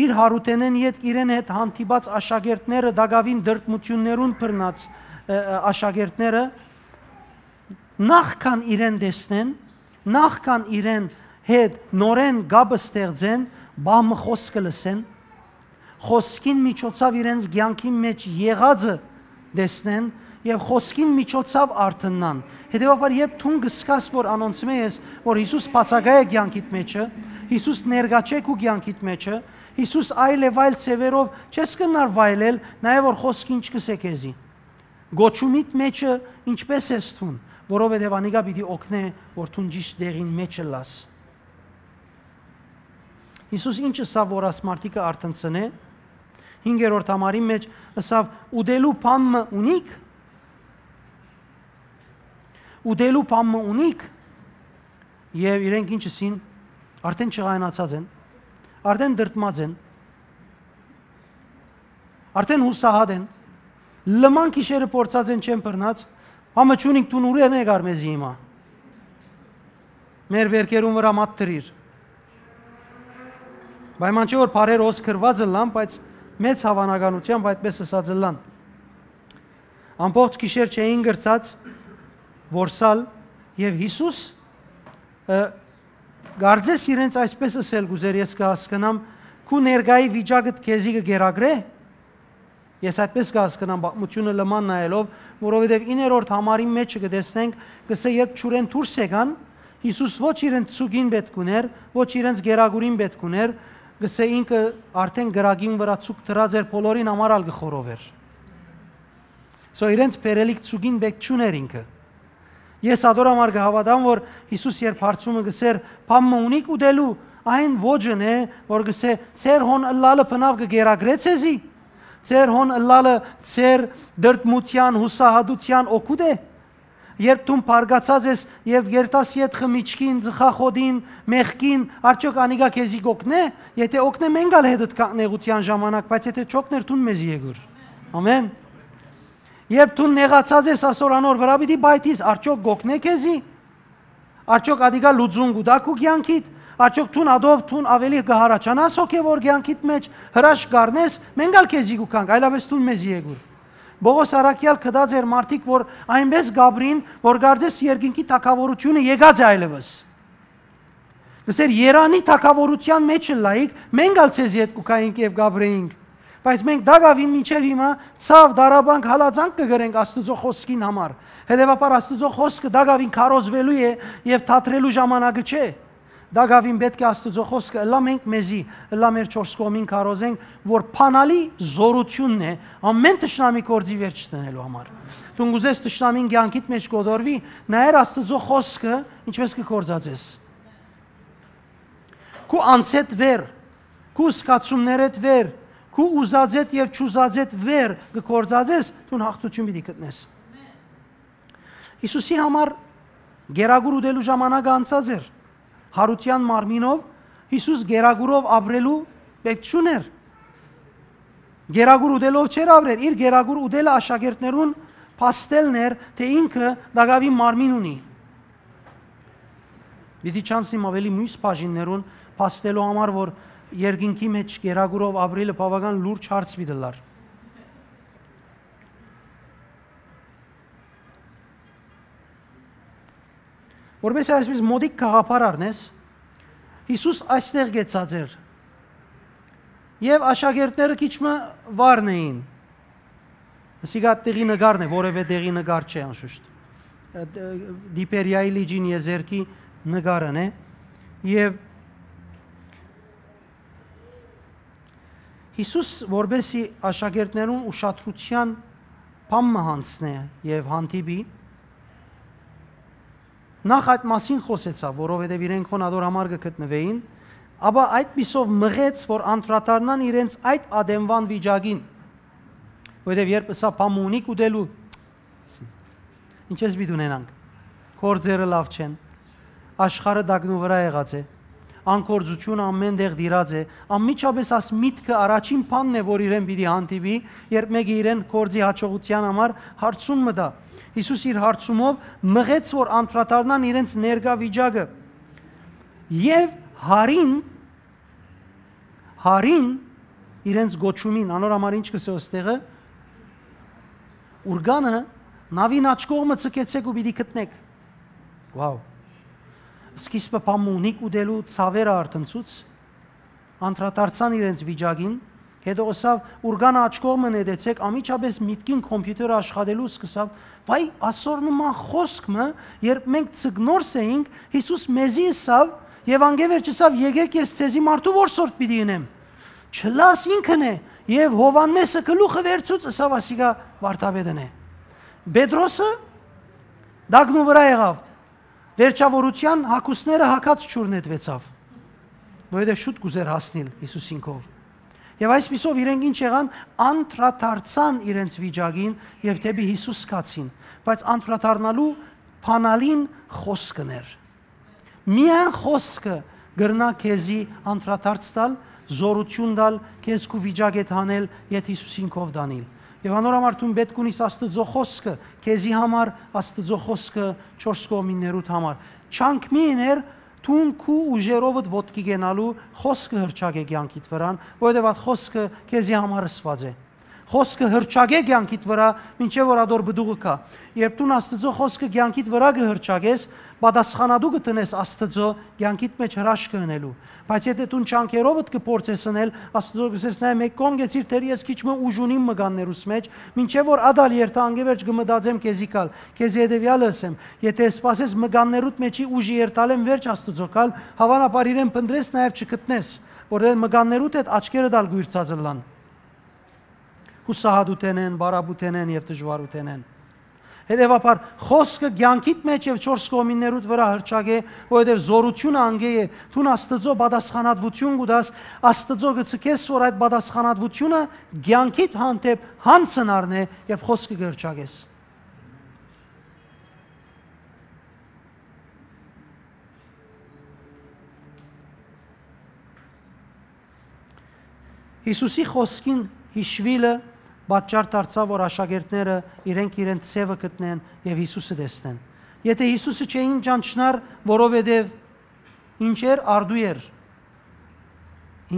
իր յարութենէն ետք իրեն հետ հանդիպած աշակերտները, տակաւին տրտմութիւններուն բռնած, ը, ը, աշակերտները, նախքան իրեն տեսնեն, նախքան իրեն հետ նորէն կապ ստեղծեն, պահ մը խօսքը լսեն, խօսքին միջոցաւ իրենց կեանքին մէջ եղածը տեսնեն եւ խօսքին միջոցաւ արթննան։ Հետեւաբար, երբ դուն կ'զգաս, որ անոնցմէ ես, որ Յիսուս բացակայ է կեանքիդ մէջը, Յիսուս ներկայ չէ քու կեանքիդ մէջը, Յիսուս այլ եւ այլ ձեւերով չես կրնար վայելել, նայ որ խօսքը ինչ կ'ըսէ քեզի։ Գոչումիդ մէջը ինչպէս ես դուն, որովհետեւ անիկա պիտի օգնէ, որ դուն ճիշդ տեղին մէջ ըլլաս։ Յիսուս ինչ ըսաւ, որ աս մարդիկը արթնցնէ, հինգերորդ համարին մէջ ըսաւ. «Ուտելու բան մը ունի՞ք»։ «Ուտելու բան մը ունի՞ք»։ Եւ իրենք ինչ ըսին, արդեն չղայնացած են, արդեն դրդմած են, արդեն յուսահատ են, լման գիշերը փորձած են, չեն բռնած, համը չունինք, դուն ուրեն եկար մեզի հիմա։ Մեր վերքերուն վրայ մատ դրիր։ Պայման չէ որ բառեր օս գրված ըլլան, բայց մեծ հաւանականութեամբ այդպես ըսած ըլլան։ Ամբողջ գիշեր չէին կրցած որսալ, եւ Յիսուս, ը, կարծես իրենց այսպես ըսել կ'ուզեր, ես կը հասկնամ, քու ներկայի վիճակդ քեզի կը կերակրե՞։ Ես այդպես կը հասկնամ պատմութիւնը լման նայելով, որովհետեւ իններորդ համարին մէջը կը տեսնենք, կ'ըսէ, երբ ջուրէն դուրս եկան, Յիսուս ոչ իրենց ցուկին պէտք ունէր, ոչ իրենց կերակուրին պէտք ունէր, կ'ըսէ, ինքը արդեն կրակին վրայ ցուկ դրած էր, բոլորին համար ալ կը խորովէր։ So իրենց բերելիք ցուկին պէտք չունէր ինքը։ Ես ատոր համար կը հաւատամ, որ Յիսուս երբ հարցումը կ'ըսէր, «Բան մը ունի՞ք ուտելու», այն ոճն է, որ կ'ըսէ, «Ձեր հոն ըլլալը բնաւ կը կերակրե՞ ձեզի։ Ձեր հոն ըլլալը ձեր դրդմութեան, յուսահատութեան օգուտ է։ Երբ դուն բարկացած ես եւ երթաս յետ խմիչքին, ծխախոտին, մեղքին, արդյոք անիկա քեզի կ'օգնէ՞։ Եթէ օգնէ, մենք ալ հետդ կանգնենք նեղութեան ժամանակ, բայց եթէ չօգնէր, դուն մեզի եկուր»։ Ամեն։ Երբ դուն նեղացած ես ասոր անոր վրայ, պիտի պայթիս, արդյոք կ'օգնէ քեզի։ Արդյոք ատիկա լուծում կու տայ քու կեանքիդ։ Արդյոք դուն ատով դուն աւելի կը յառաջանաս հոգեւոր կեանքիդ մէջ, հրաշք կ'առնես, մենք ալ քեզի կու գանք, այլապէս դուն մեզի եկուր։ Պողոս առաքեալ գտած էր մարդիկ, որ այնպէս կ'ապրին, որ կարծես երկինքի թագաւորութիւնը եկած է այլեւս։ Կ'ըսէր, «Երանի թագաւորութեան մէջ ըլլայիք, մենք ալ ձեզի հետ կու գայինք եւ կ'ապրեինք»։ Բայց մենք տակաւին մինչեւ հիմա ցաւ, տառապանք, հալածանք կը կրենք Աստուծոյ խօսքին համար։ Հետեւաբար Աստուծոյ խօսքը տակաւին քարոզուելու է եւ թատրելու ժամանակը չէ։ Տակաւին պէտք է Աստուծոյ խօսքը ըլլայ մենք մեզի, ըլլայ մեր չորս կողմին քարոզենք, որ բանալի զօրութիւնն է ամէն թշնամի գործի վերջ դնելու համար։ Դուն կ'ուզես թշնամին կեանքիդ մէջ կ'օտորուի, նայեր Աստուծոյ խօսքը ինչպէս կը գործածես։ Քու անձէդ վեր, քու զգացումներէդ վեր, քու ուզածէդ եւ չուզածէդ վեր կը գործածես, դուն յաղթութիւն պիտի գտնես։ Յիսուսի համար գերագուր ուտելու ժամանակը անցած էր։ Յարութեան մարմինով Յիսուս գերագուրով ապրելու պէտք չունէր։ Գերագուր ուտելով չէր ապրեր, իր գերագուր ուտելը աշակերտներուն փաստելն էր, թէ ինքը տակաւին մարմին ունի։ Պիտի չանցնիմ աւելի մյուս բաժիններուն փաստելու համար, որ երկինքի մէջ գերագուրով ապրելը բաւական լուրջ հարց պիտի ըլլար։ Որպեսզի այսպես մօտիկ գաղափար առնես, Յիսուս այստեղ գեցած էր, եւ աշակերտները քիչ մը վարն էին։ Սիգա տեղի նկարն է, որևէ տեղի նկար չէ անշուշտ։ Ը, դ-, Տիբերիայի լիճին եզերքի նկարն է, եւ Յիսուս, որպեսզի աշակերտներուն ուշադրութեան բան մը յանցնէ եւ հանդիպի, նախ այդ մասին խօսեցաւ, որովհետեւ իրենք հոն ատոր համար կը գտնուէին, ապա այդպիսով մղեց, որ անդրադառնան իրենց այդ ատենուան վիճակին, որովհետեւ երբ ըսաւ, «Բան մը ունի՞ք ուտելու»։ Ինչպես պիտի ունենանք։ Գործերը լաւ չեն, աշխարհը տակնուվրա եղած է, Անկործութիւնը ամէն տեղ տիրած է։ Անմիջապէս աս միտքը առաջին բանն է, որ իրեն պիտի հանդիպի, երբ մէկը իրեն գործի յաջողութեան համար հարցում մը տայ։ Յիսուս իր հարցումով մղեց, որ անդրադառնան իրենց ներկայ վիճակը։ Եւ հարին, հարին իրենց գոչումին, անոր համար ինչ կ'ըսէ ըստեղը, ուրկանը նաւին աջ կողմը ձգեցէք ու պիտի գտնէք։ Wow։ Սկիզբը բան մունիկ ուտելու ցաւերը արթնցուց, անդրադարձան իրենց վիճակին, հետո ըսաւ, ուրկանը աջ կողմը նետեցեք, անմիջապէս միտքին կոմպիութերը աշխատելու սկսաւ, վայ, ասոր նման խօսք մը, երբ մենք ձկնորս էինք, Յիսուս մեզի ըսաւ, եւ անկէ վերջ ըսաւ, եկեք, ես ձեզի մարդու որսորդ պիտի ընեմ։ Չլաս ինքն է, եւ Յովհաննէսը գլուխը վերցուց, ըսաւ, ասիկա վարդապետն է։ Պետրոսը դագնու վրայ եղաւ, վերջաւորութեան հագուստները հագած ջուր նետուեցաւ, որովհետեւ շուտ կ'ուզէր հասնիլ Յիսուսին քով։ Եւ այսպիսով իրենք ինչ եղան, անդրադարձան իրենց վիճակին եւ դէպի Յիսուս գացին, բայց անդրադառնալու բանալին խօսքն էր։ Միայն խօսքը կրնայ քեզի անդրադարձ տալ, զօրութիւն տալ, քեզ քու վիճակէդ հանել, եթ Յիսուսին քով տանիլ։ Եւ անոր համար դուն պէտք ունիս Աստուծոյ խօսքը, քեզի համար Աստուծոյ խօսքը չորս կողմիններուդ համար։ Չանք մի ըներ, դուն քու ուժերովդ ոտքի կենալու, խօսքը հրճակէ կեանքիդ վրան, որովհետեւ այդ խօսքը քեզի համար ըսուած է։ Խօսքը հրճակէ կեանքիդ վրայ, մինչեւ որ ատոր պտուղը գայ։ Երբ դուն Աստուծոյ խօսքը կեանքիդ վրայ կը հրճակես, պատասխանատու կը տնես Աստուծոյ կեանքիդ մէջ հրաշքը ընելու։ Բայց եթէ դուն չանքերովդ կը փորձես ընել, Աստուծոյ կ'ըսես, նայ, մէկ կողմ գեցիր, թէ ես քիչ մը ուժ ունիմ մկաններուս մէջ, մինչեւ որ ատալ երթայ, անկէ վերջ կը մտածեմ քեզի գալ, քեզի հետեւեալը ըսեմ, եթէ սպասես մկաններուդ մէջի ուժը երթալէն վերջ Աստուծոյ գալ, հաւանաբար իրեն փնտռես, նաեւ չգտնես, որ մկաններուդ հետ աչքերդ ալ կ'ուիրցած ըլլան։ Յուսահատութենէն, պարապութենէն եւ դժուարութենէն։ Հետեւաբար, խօսքը կեանքիդ մէջ եւ չորս կողմիններուդ վրայ հրճակէ, որովհետեւ զօրութիւնը անկէ է, դուն Աստուծոյ պատասխանատվութիւն կու տաս, Աստուծոյ կը ցկես, որ այդ պատասխանատվութիւնը կեանքիդ հանդէպ յանցն առնէ, երբ խօսքը կը հրճակես։ Յիսուսի խօսքին հիշուիլը պատճառ դարձաւ, որ աշակերտները իրենք իրենց ձեւը գտնեն եւ Յիսուսը տեսնեն։ Եթէ Յիսուսը չէին ճանչնար, որովհետեւ ինչ էր, արդու էր։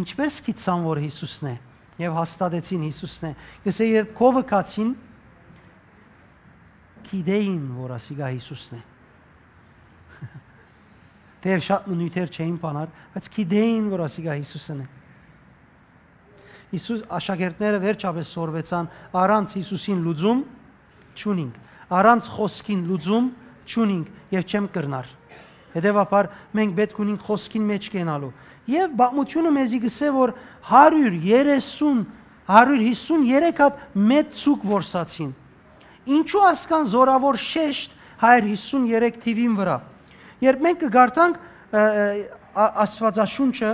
Ինչպէս գիտցան, որ Յիսուսն է, եւ հաստատեցին Յիսուսն է։ Կ'ըսէ, երբ քովը գացին, գիտէին, որ ասիկա Յիսուսն է։ Թէեւ շատ մը նիւթեր չէին բանար, բայց գիտէին, որ ասիկա Յիսուսն է։ Յիսուս, աշակերտները վերջապէս սորվեցան, առանց Յիսուսին լուծում չունինք, առանց խօսքին լուծում չունինք եւ չեմ կրնար։ Հետեւաբար մենք պէտք ունինք խօսքին մէջ կենալու։ Եւ պատմութիւնը մեզի կ'ըսէ, որ հարիւր երեսուն, հարիւր հիսուն երեք հատ մեծ ձուկ որսացին։ Ինչու ասկան զորաւոր շեշտ հայր հիսուն երեք թիւին վրայ։ Երբ մենք կը կարդանք, ը, ը, ա-, Աստուածաշունչը,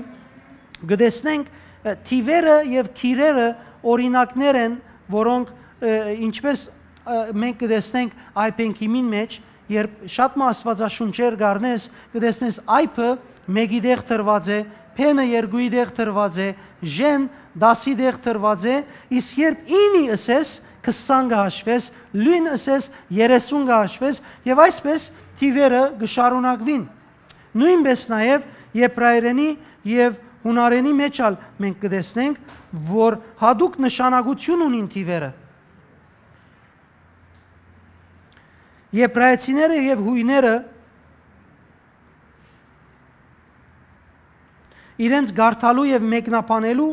կը տեսնենք, ը, թիվերը եւ քիրերը օրինակներ են, որոնք, ը, ինչպես, ը, մենք կը տեսնենք Այ Պենքիմին մէջ, երբ շատ մը Աստուածաշունչեր կ'առնես, կը տեսնես այբը մէկի տեղ դրուած է, փէնը երկուի տեղ դրուած է, ժեն դասի տեղ դրուած է, իսկ երբ ինի ըսես, քսան կը հաշուես, լոյն ըսես, երեսուն կը հաշուես, եւ այսպէս թիվերը կը շարունակուին։ Նոյնպէս նաեւ եբրայերենի եւ յունարենի մէջ ալ մենք կը տեսնենք, որ յատուկ նշանակութիւն ունին թիվերը։ Եբրայեցիները եւ յոյները իրենց կարդալու եւ մեկնաբանելու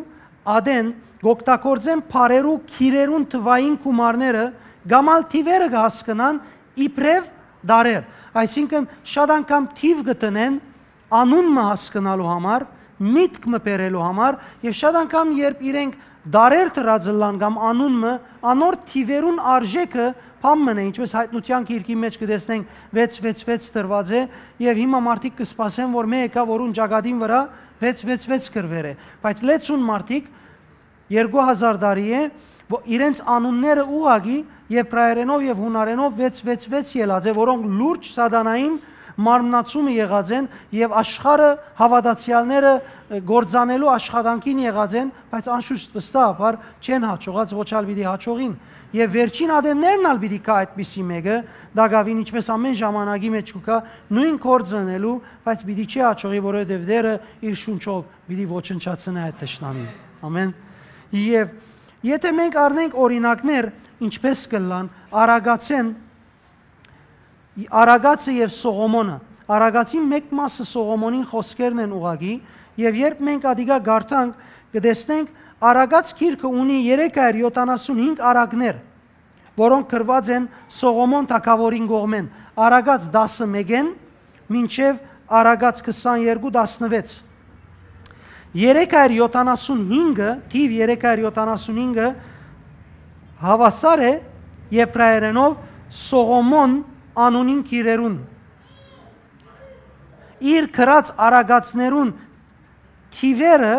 ատեն կ'օգտագործեն բառերու քիրերուն թուային գումարները կամ ալ թիվերը կը հասկնան իբրեւ դարեր։ Այսինքն, շատ անգամ թիվ կը տնեն անուն մը հասկնալու համար, միտք մը բերելու համար, եւ շատ անգամ, երբ իրենք դարեր դրած ըլլան կամ անուն մը, անոր թիվերուն արժէքը բան մըն է, ինչպես Հայտնութեան գիրքի մէջ կը տեսնենք վեց վեց վեց դրուած է, եւ հիմա մարդիկ կը սպասեն, որ մէ եկայ, որուն ճակատին վրայ վեց վեց վեց գրուեր է։ Բայց լեցուն մարդիկ երկու հազար տարի է, որ իրենց անունները ուղղակի եբրայերենով եւ յունարենով վեց վեց վեց ելած է, որոնք լուրջ սատանային մարմնացումը եղած են եւ աշխարհը, հաւատացեալները, ը, գործանելու աշխատանքին եղած են, բայց անշուշտ վստահաբար չեն յաջողած, ոչ ալ պիտի յաջողին։ Եւ վերջին ատեններն ալ պիտի գայ այդպիսի մէկը, տակաւին ինչպէս ամէն ժամանակի մէջ կու գայ, նոյն գործը ընելու, բայց պիտի չի յաջողի, որովհետեւ Տէրը իր շունչով պիտի ոչնչացնէ այդ թշնամին։ Ամէն։ Եւ եթե մենք առնենք օրինակներ, ինչպէս կ'ըլլան, արագացէն, արագացը եւ Սողոմոնը, արագացին մէկ մասը Սողոմոնին խօսքերն են ուղղակի, եւ երբ մենք ատիկա կարդանք, կը տեսնենք, Արագած գիրքը ունի երեք հարիւր յոթանասուն հինգ արագներ, որոնք գրուած են Սողոմոն թագաւորին կողմէն, Արագած տասը մէկէն մինչեւ Արագած քսաներկու տասնուեց։ Երեք հարիւր յոթանասուն հինգը, թիւ երեք հարիւր յոթանասուն հինգը հաւասար է եբրայերէնով Սողոմոն անունին գիրերուն։ Իր գրած արագածներուն թիվերը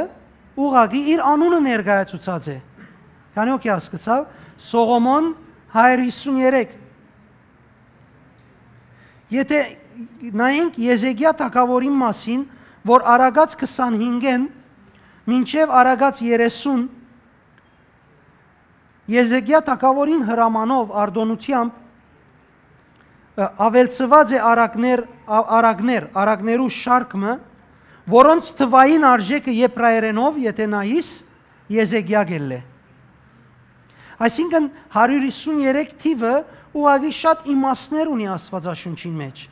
ուղղակի իր անունը ներկայացուցած է։ Քանի՞ հոգի հասկցաւ, Սողոմոն, հարիւր յիսուն երեք։ Եթե նայենք Եզեկիա թագաւորին մասին, որ Արագած քսանհինգէն մինչեւ Արագած երեսուն, Եզեկիա թագաւորին հրամանով, արտօնութեամբ, ը, աւելցուած է արագներ, ա-, արագներ, արագներու շարք մը, որոնց թուային արժէքը եբրայերէնով, եթե նայիս, Եզեկիա կ'ելլէ։ Այսինքն, հարիւր յիսուն երեք թիվը ուղղակի շատ իմաստներ ունի Աստուածաշունչին մէջ։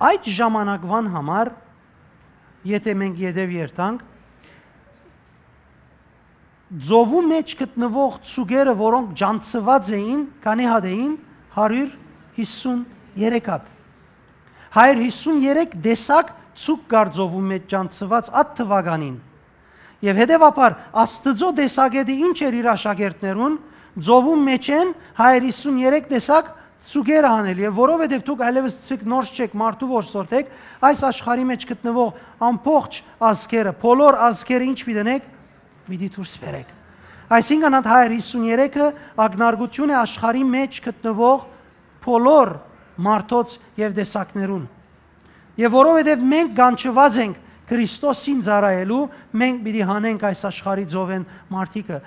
Այդ ժամանակուան համար, եթե մենք ետեւ երթանք, ծովու մէջ գտնուող ձուկերը, որոնք ճանչցուած էին, քանի՞ հատ էին, հարիւր յիսուն երեք հատ։ Հարիւր յիսուն երեք տեսակ ձուկ կար ծովու մէջ ճանչցուած այդ թուականին։ Եւ հետեւաբար, Աստուծոյ տեսակէտը ինչ էր իր աշակերտներուն, ծովուն մէջէն հարիւր յիսուն երեք տեսակ ձուկեր հանել, եւ որովհետեւ դուք այլեւս ձուկ նորս չէք, մարդու որսորդ էք, այս աշխարհի մէջ գտնուող ամբողջ ազգերը, բոլոր ազգերը ինչ պիտի ընեք, պիտի դուրս բերեք։ Այսինքն, այդ հարիւր յիսուն երեքը ակնարկություն է աշխարհի մէջ գտնուող բոլոր մարդոց եւ տեսակներուն։ Եւ որովհետեւ մենք կանչուած ենք Քրիստոսին ծառայելու, մենք պիտի հանենք այս աշխարհի ծովէն մարդիկը։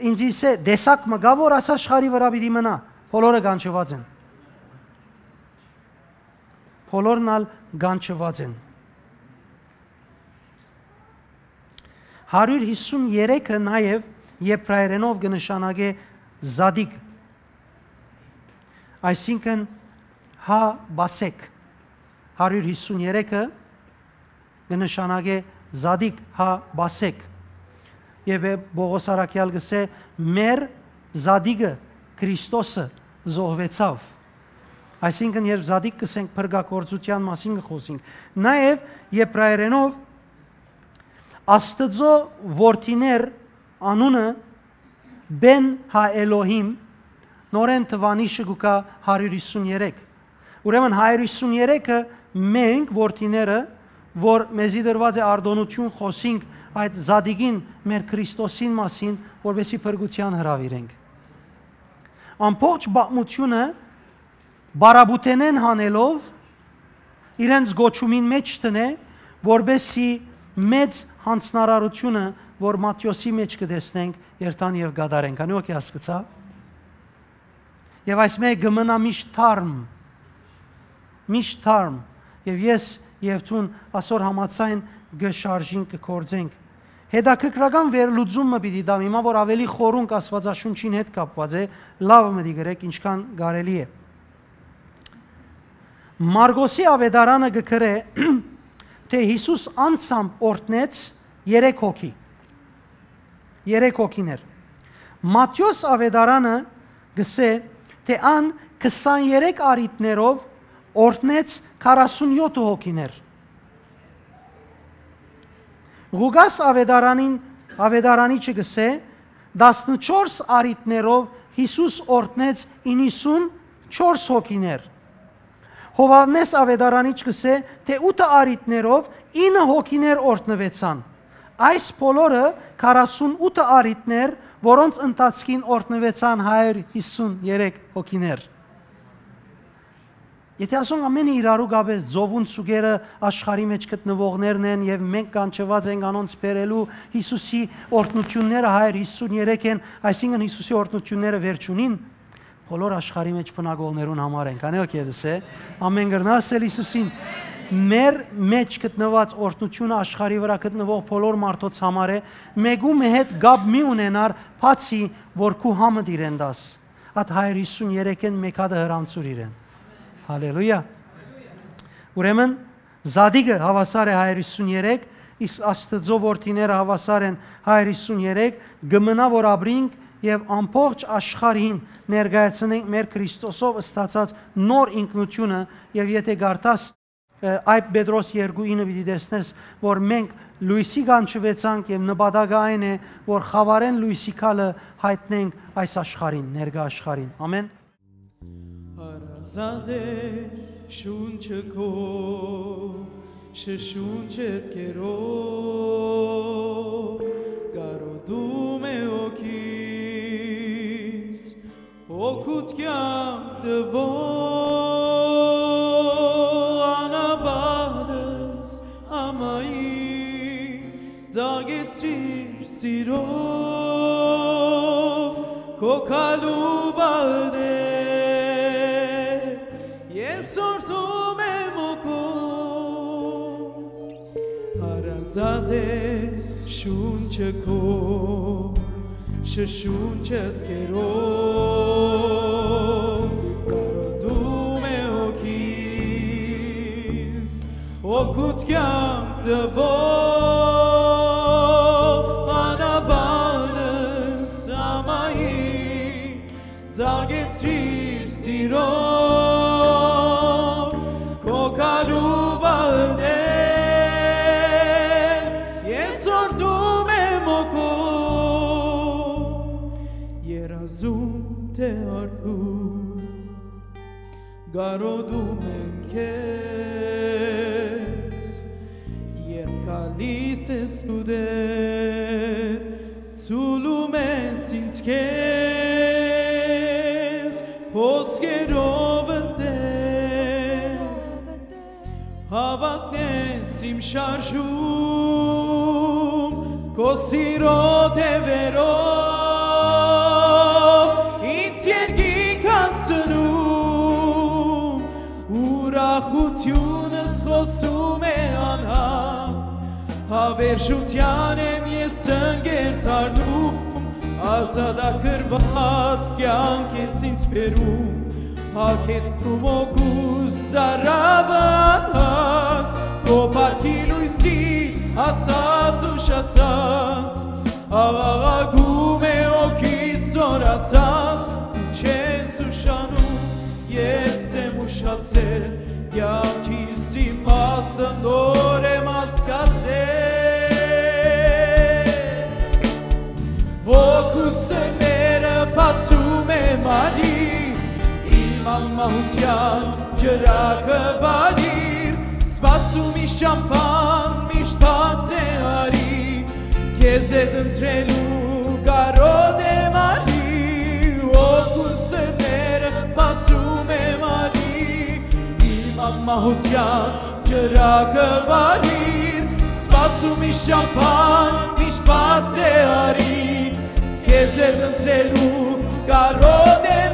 Ինձ ըսէ, տեսակ մը կա՞, որ այս աշխարհի վրայ պիտի մնայ, բոլորը կանչուած են։ Բոլորն ալ կանչուած են։ Հարիւր յիսուն երեքը նաեւ եբրայերէնով կը նշանակէ զատիկ, այսինքն՝ հա պասեք։ Հարիւր յիսուն երեքը կը նշանակէ զատիկ, հա պասեք։ Եւ Պողոս առաքեալ կ'ըսէ. «Մեր զատիկը, Քրիստոսը, զոհուեցաւ»։ Այսինքն, երբ զատիկ կ'ըսենք, փրկագործութեան մասին կը խօսենք։ Նաեւ եբրայերէնով Աստուծոյ որդիներ անունը Բեն Հա Էլոհիմ, նորէն թուանիշը կու գայ հարիւր յիսուն երեք։ Ուրեմն, հարիւր յիսուն երեքը մենք, որդիները, որ մեզի տրուած է արտօնութիւն, խօսինք այդ զատիկին, մեր Քրիստոսին մասին, որպեսզի փրկութեան հրաւիրենք։ Ամբողջ պատմութիւնը պարապութենէն հանելով, իրենց կոչումին մէջ դնէ, որպեսզի մեծ յանձնարարութիւնը, որ Մատթէոսի մէջ կը տեսնենք, երթան եւ կատարեն։ Քանի՞ հոգի հասկցայ։ Եւ այս մէկը կը մնայ միշտ թարմ, միշտ թարմ։ Եւ ես եւ դուն ասոր համաձայն կը շարժինք, կը գործենք։ Հետաքրքրական վերլուծում մը պիտի տամ հիմա, որ ավելի խորունկ Աստուածաշունչին հետ կապուած է, լաւ մտի գրեք, ինչքան կարելի է։ Մարկոսի աւետարանը կը գրէ, թէ Յիսուս անձամբ օրհնեց երեք հոգի։ Երեք հոգիներ։ Մատթէոս աւետարանը կ'ըսէ, թէ ան քսաներեք առիթներով օրհնեց քառասունյոթ հոգիներ։ Ղուկաս աւետարանին, աւետարանիչը կ'ըսէ, տասնչորս առիթներով Յիսուս օրհնեց իննսունչորս հոգիներ։ Յովհաննէս աւետարանիչ կ'ըսէ, թէ ութը առիթներով ինը հոգիներ օրհնուեցան։ Այս բոլորը քառասունութ առիթներ, որոնց ընթացքին օրհնուեցան հարիւր յիսուն երեք հոգիներ։ Եթէ ասոնք ամէնքը իրարու կապ ես, ծովուն սուկերը աշխարհի մէջ գտնուողներն են եւ մենք կանչուած ենք անոնց բերելու Յիսուսի օրհնութիւնները, հարիւր յիսուն երեք են, այսինքն Յիսուսի օրհնութիւնները վերջունին, բոլոր աշխարհի մէջ բնակողներուն համար են։ Քանի՞ ոգի դսե, ամեն կրնաս էլ Յիսուսին։ Մեր մէջ գտնուած օրհնութիւնը աշխարհի վրայ գտնուող բոլոր մարդոց համար է, մէկու մը հետ կապ մի ունենար, բացի որ քու համդ իրեն տաս։ Ատ հարիւր յիսուն երեքէն մէկ հատը հրամցուր իրեն։ Հալելույա։ Ուրեմն, զատիկը հաւասար է հարիւր յիսուն երեք, իսկ Աստուծոյ որդիները հաւասար են հարիւր յիսուն երեք, կը մնայ որ ապրինք եւ ամբողջ աշխարհին ներկայացնենք մեր Քրիստոսով ստացած նոր ինքնութիւնը, եւ եթէ կարդաս, ը, Այբ Պետրոս երկու ինը պիտի տեսնես, որ մենք լոյսի կանչուեցանք եւ նպատակը այն է, որ խաւարէն լոյսի քալը յայտնենք այս աշխարհին, ներկայ աշխարհին։ Ամեն։ Հարազատ է շունչը քո, շշունչդ կերով, կարոտում է հոգիս, օգուտ կեանք տվող անապատս ամայի, ծաղկեցրիր սիրով քո քալու բալտեր, ես օրհնում եմ հոգով։ Հարազատ է շունչը քո, շշունչդ կերով, կարոտում է հոգիս, օգուտ կեանք տվող անապատս ամայի, ծաղկեցրիր սիրով քո քալու բալտեր, ես օրհնում եմ հոգով, երազում թէ արթուն, կարոտում եմ քեզ, երբ գալիս ես դու Տէր, ցուլում ես ինձ քեզ, խոսքերովդ Տէր, հաւատքն ես իմ շարժում, քո սիրո թեւերով ինձ երկինք հասցնում, ուրախութիւնս խօսում է անհատ, Հավերժութեան եմ ես ընկեր դառնում, ազատագրուած կեանք ես ինձ բերում, հագեցնում օգուս ծարաւը անհատ, քո փառքի լոյսի հասած ուշացած, աղաղակում է հոգիս զորացած, դու չես ուշանում, ես եմ ուշացել, կեանքիս իմաստը նոր եմ հասկացել։ Հոգուս դռները բացում եմ արի, իմ անմահութեան ճրագը վարիր, սպասում իս ճամփան միշտ բաց է արի, քեզ հետ ընտրելու կարոտ եմ արի, հոգուս դռները բացում եմ արի, իմ անմահութեան ճրագը վարիր, սպասում իս ճամփան միշտ բաց է արի, քեզ հետ ընտրելու կարոտ է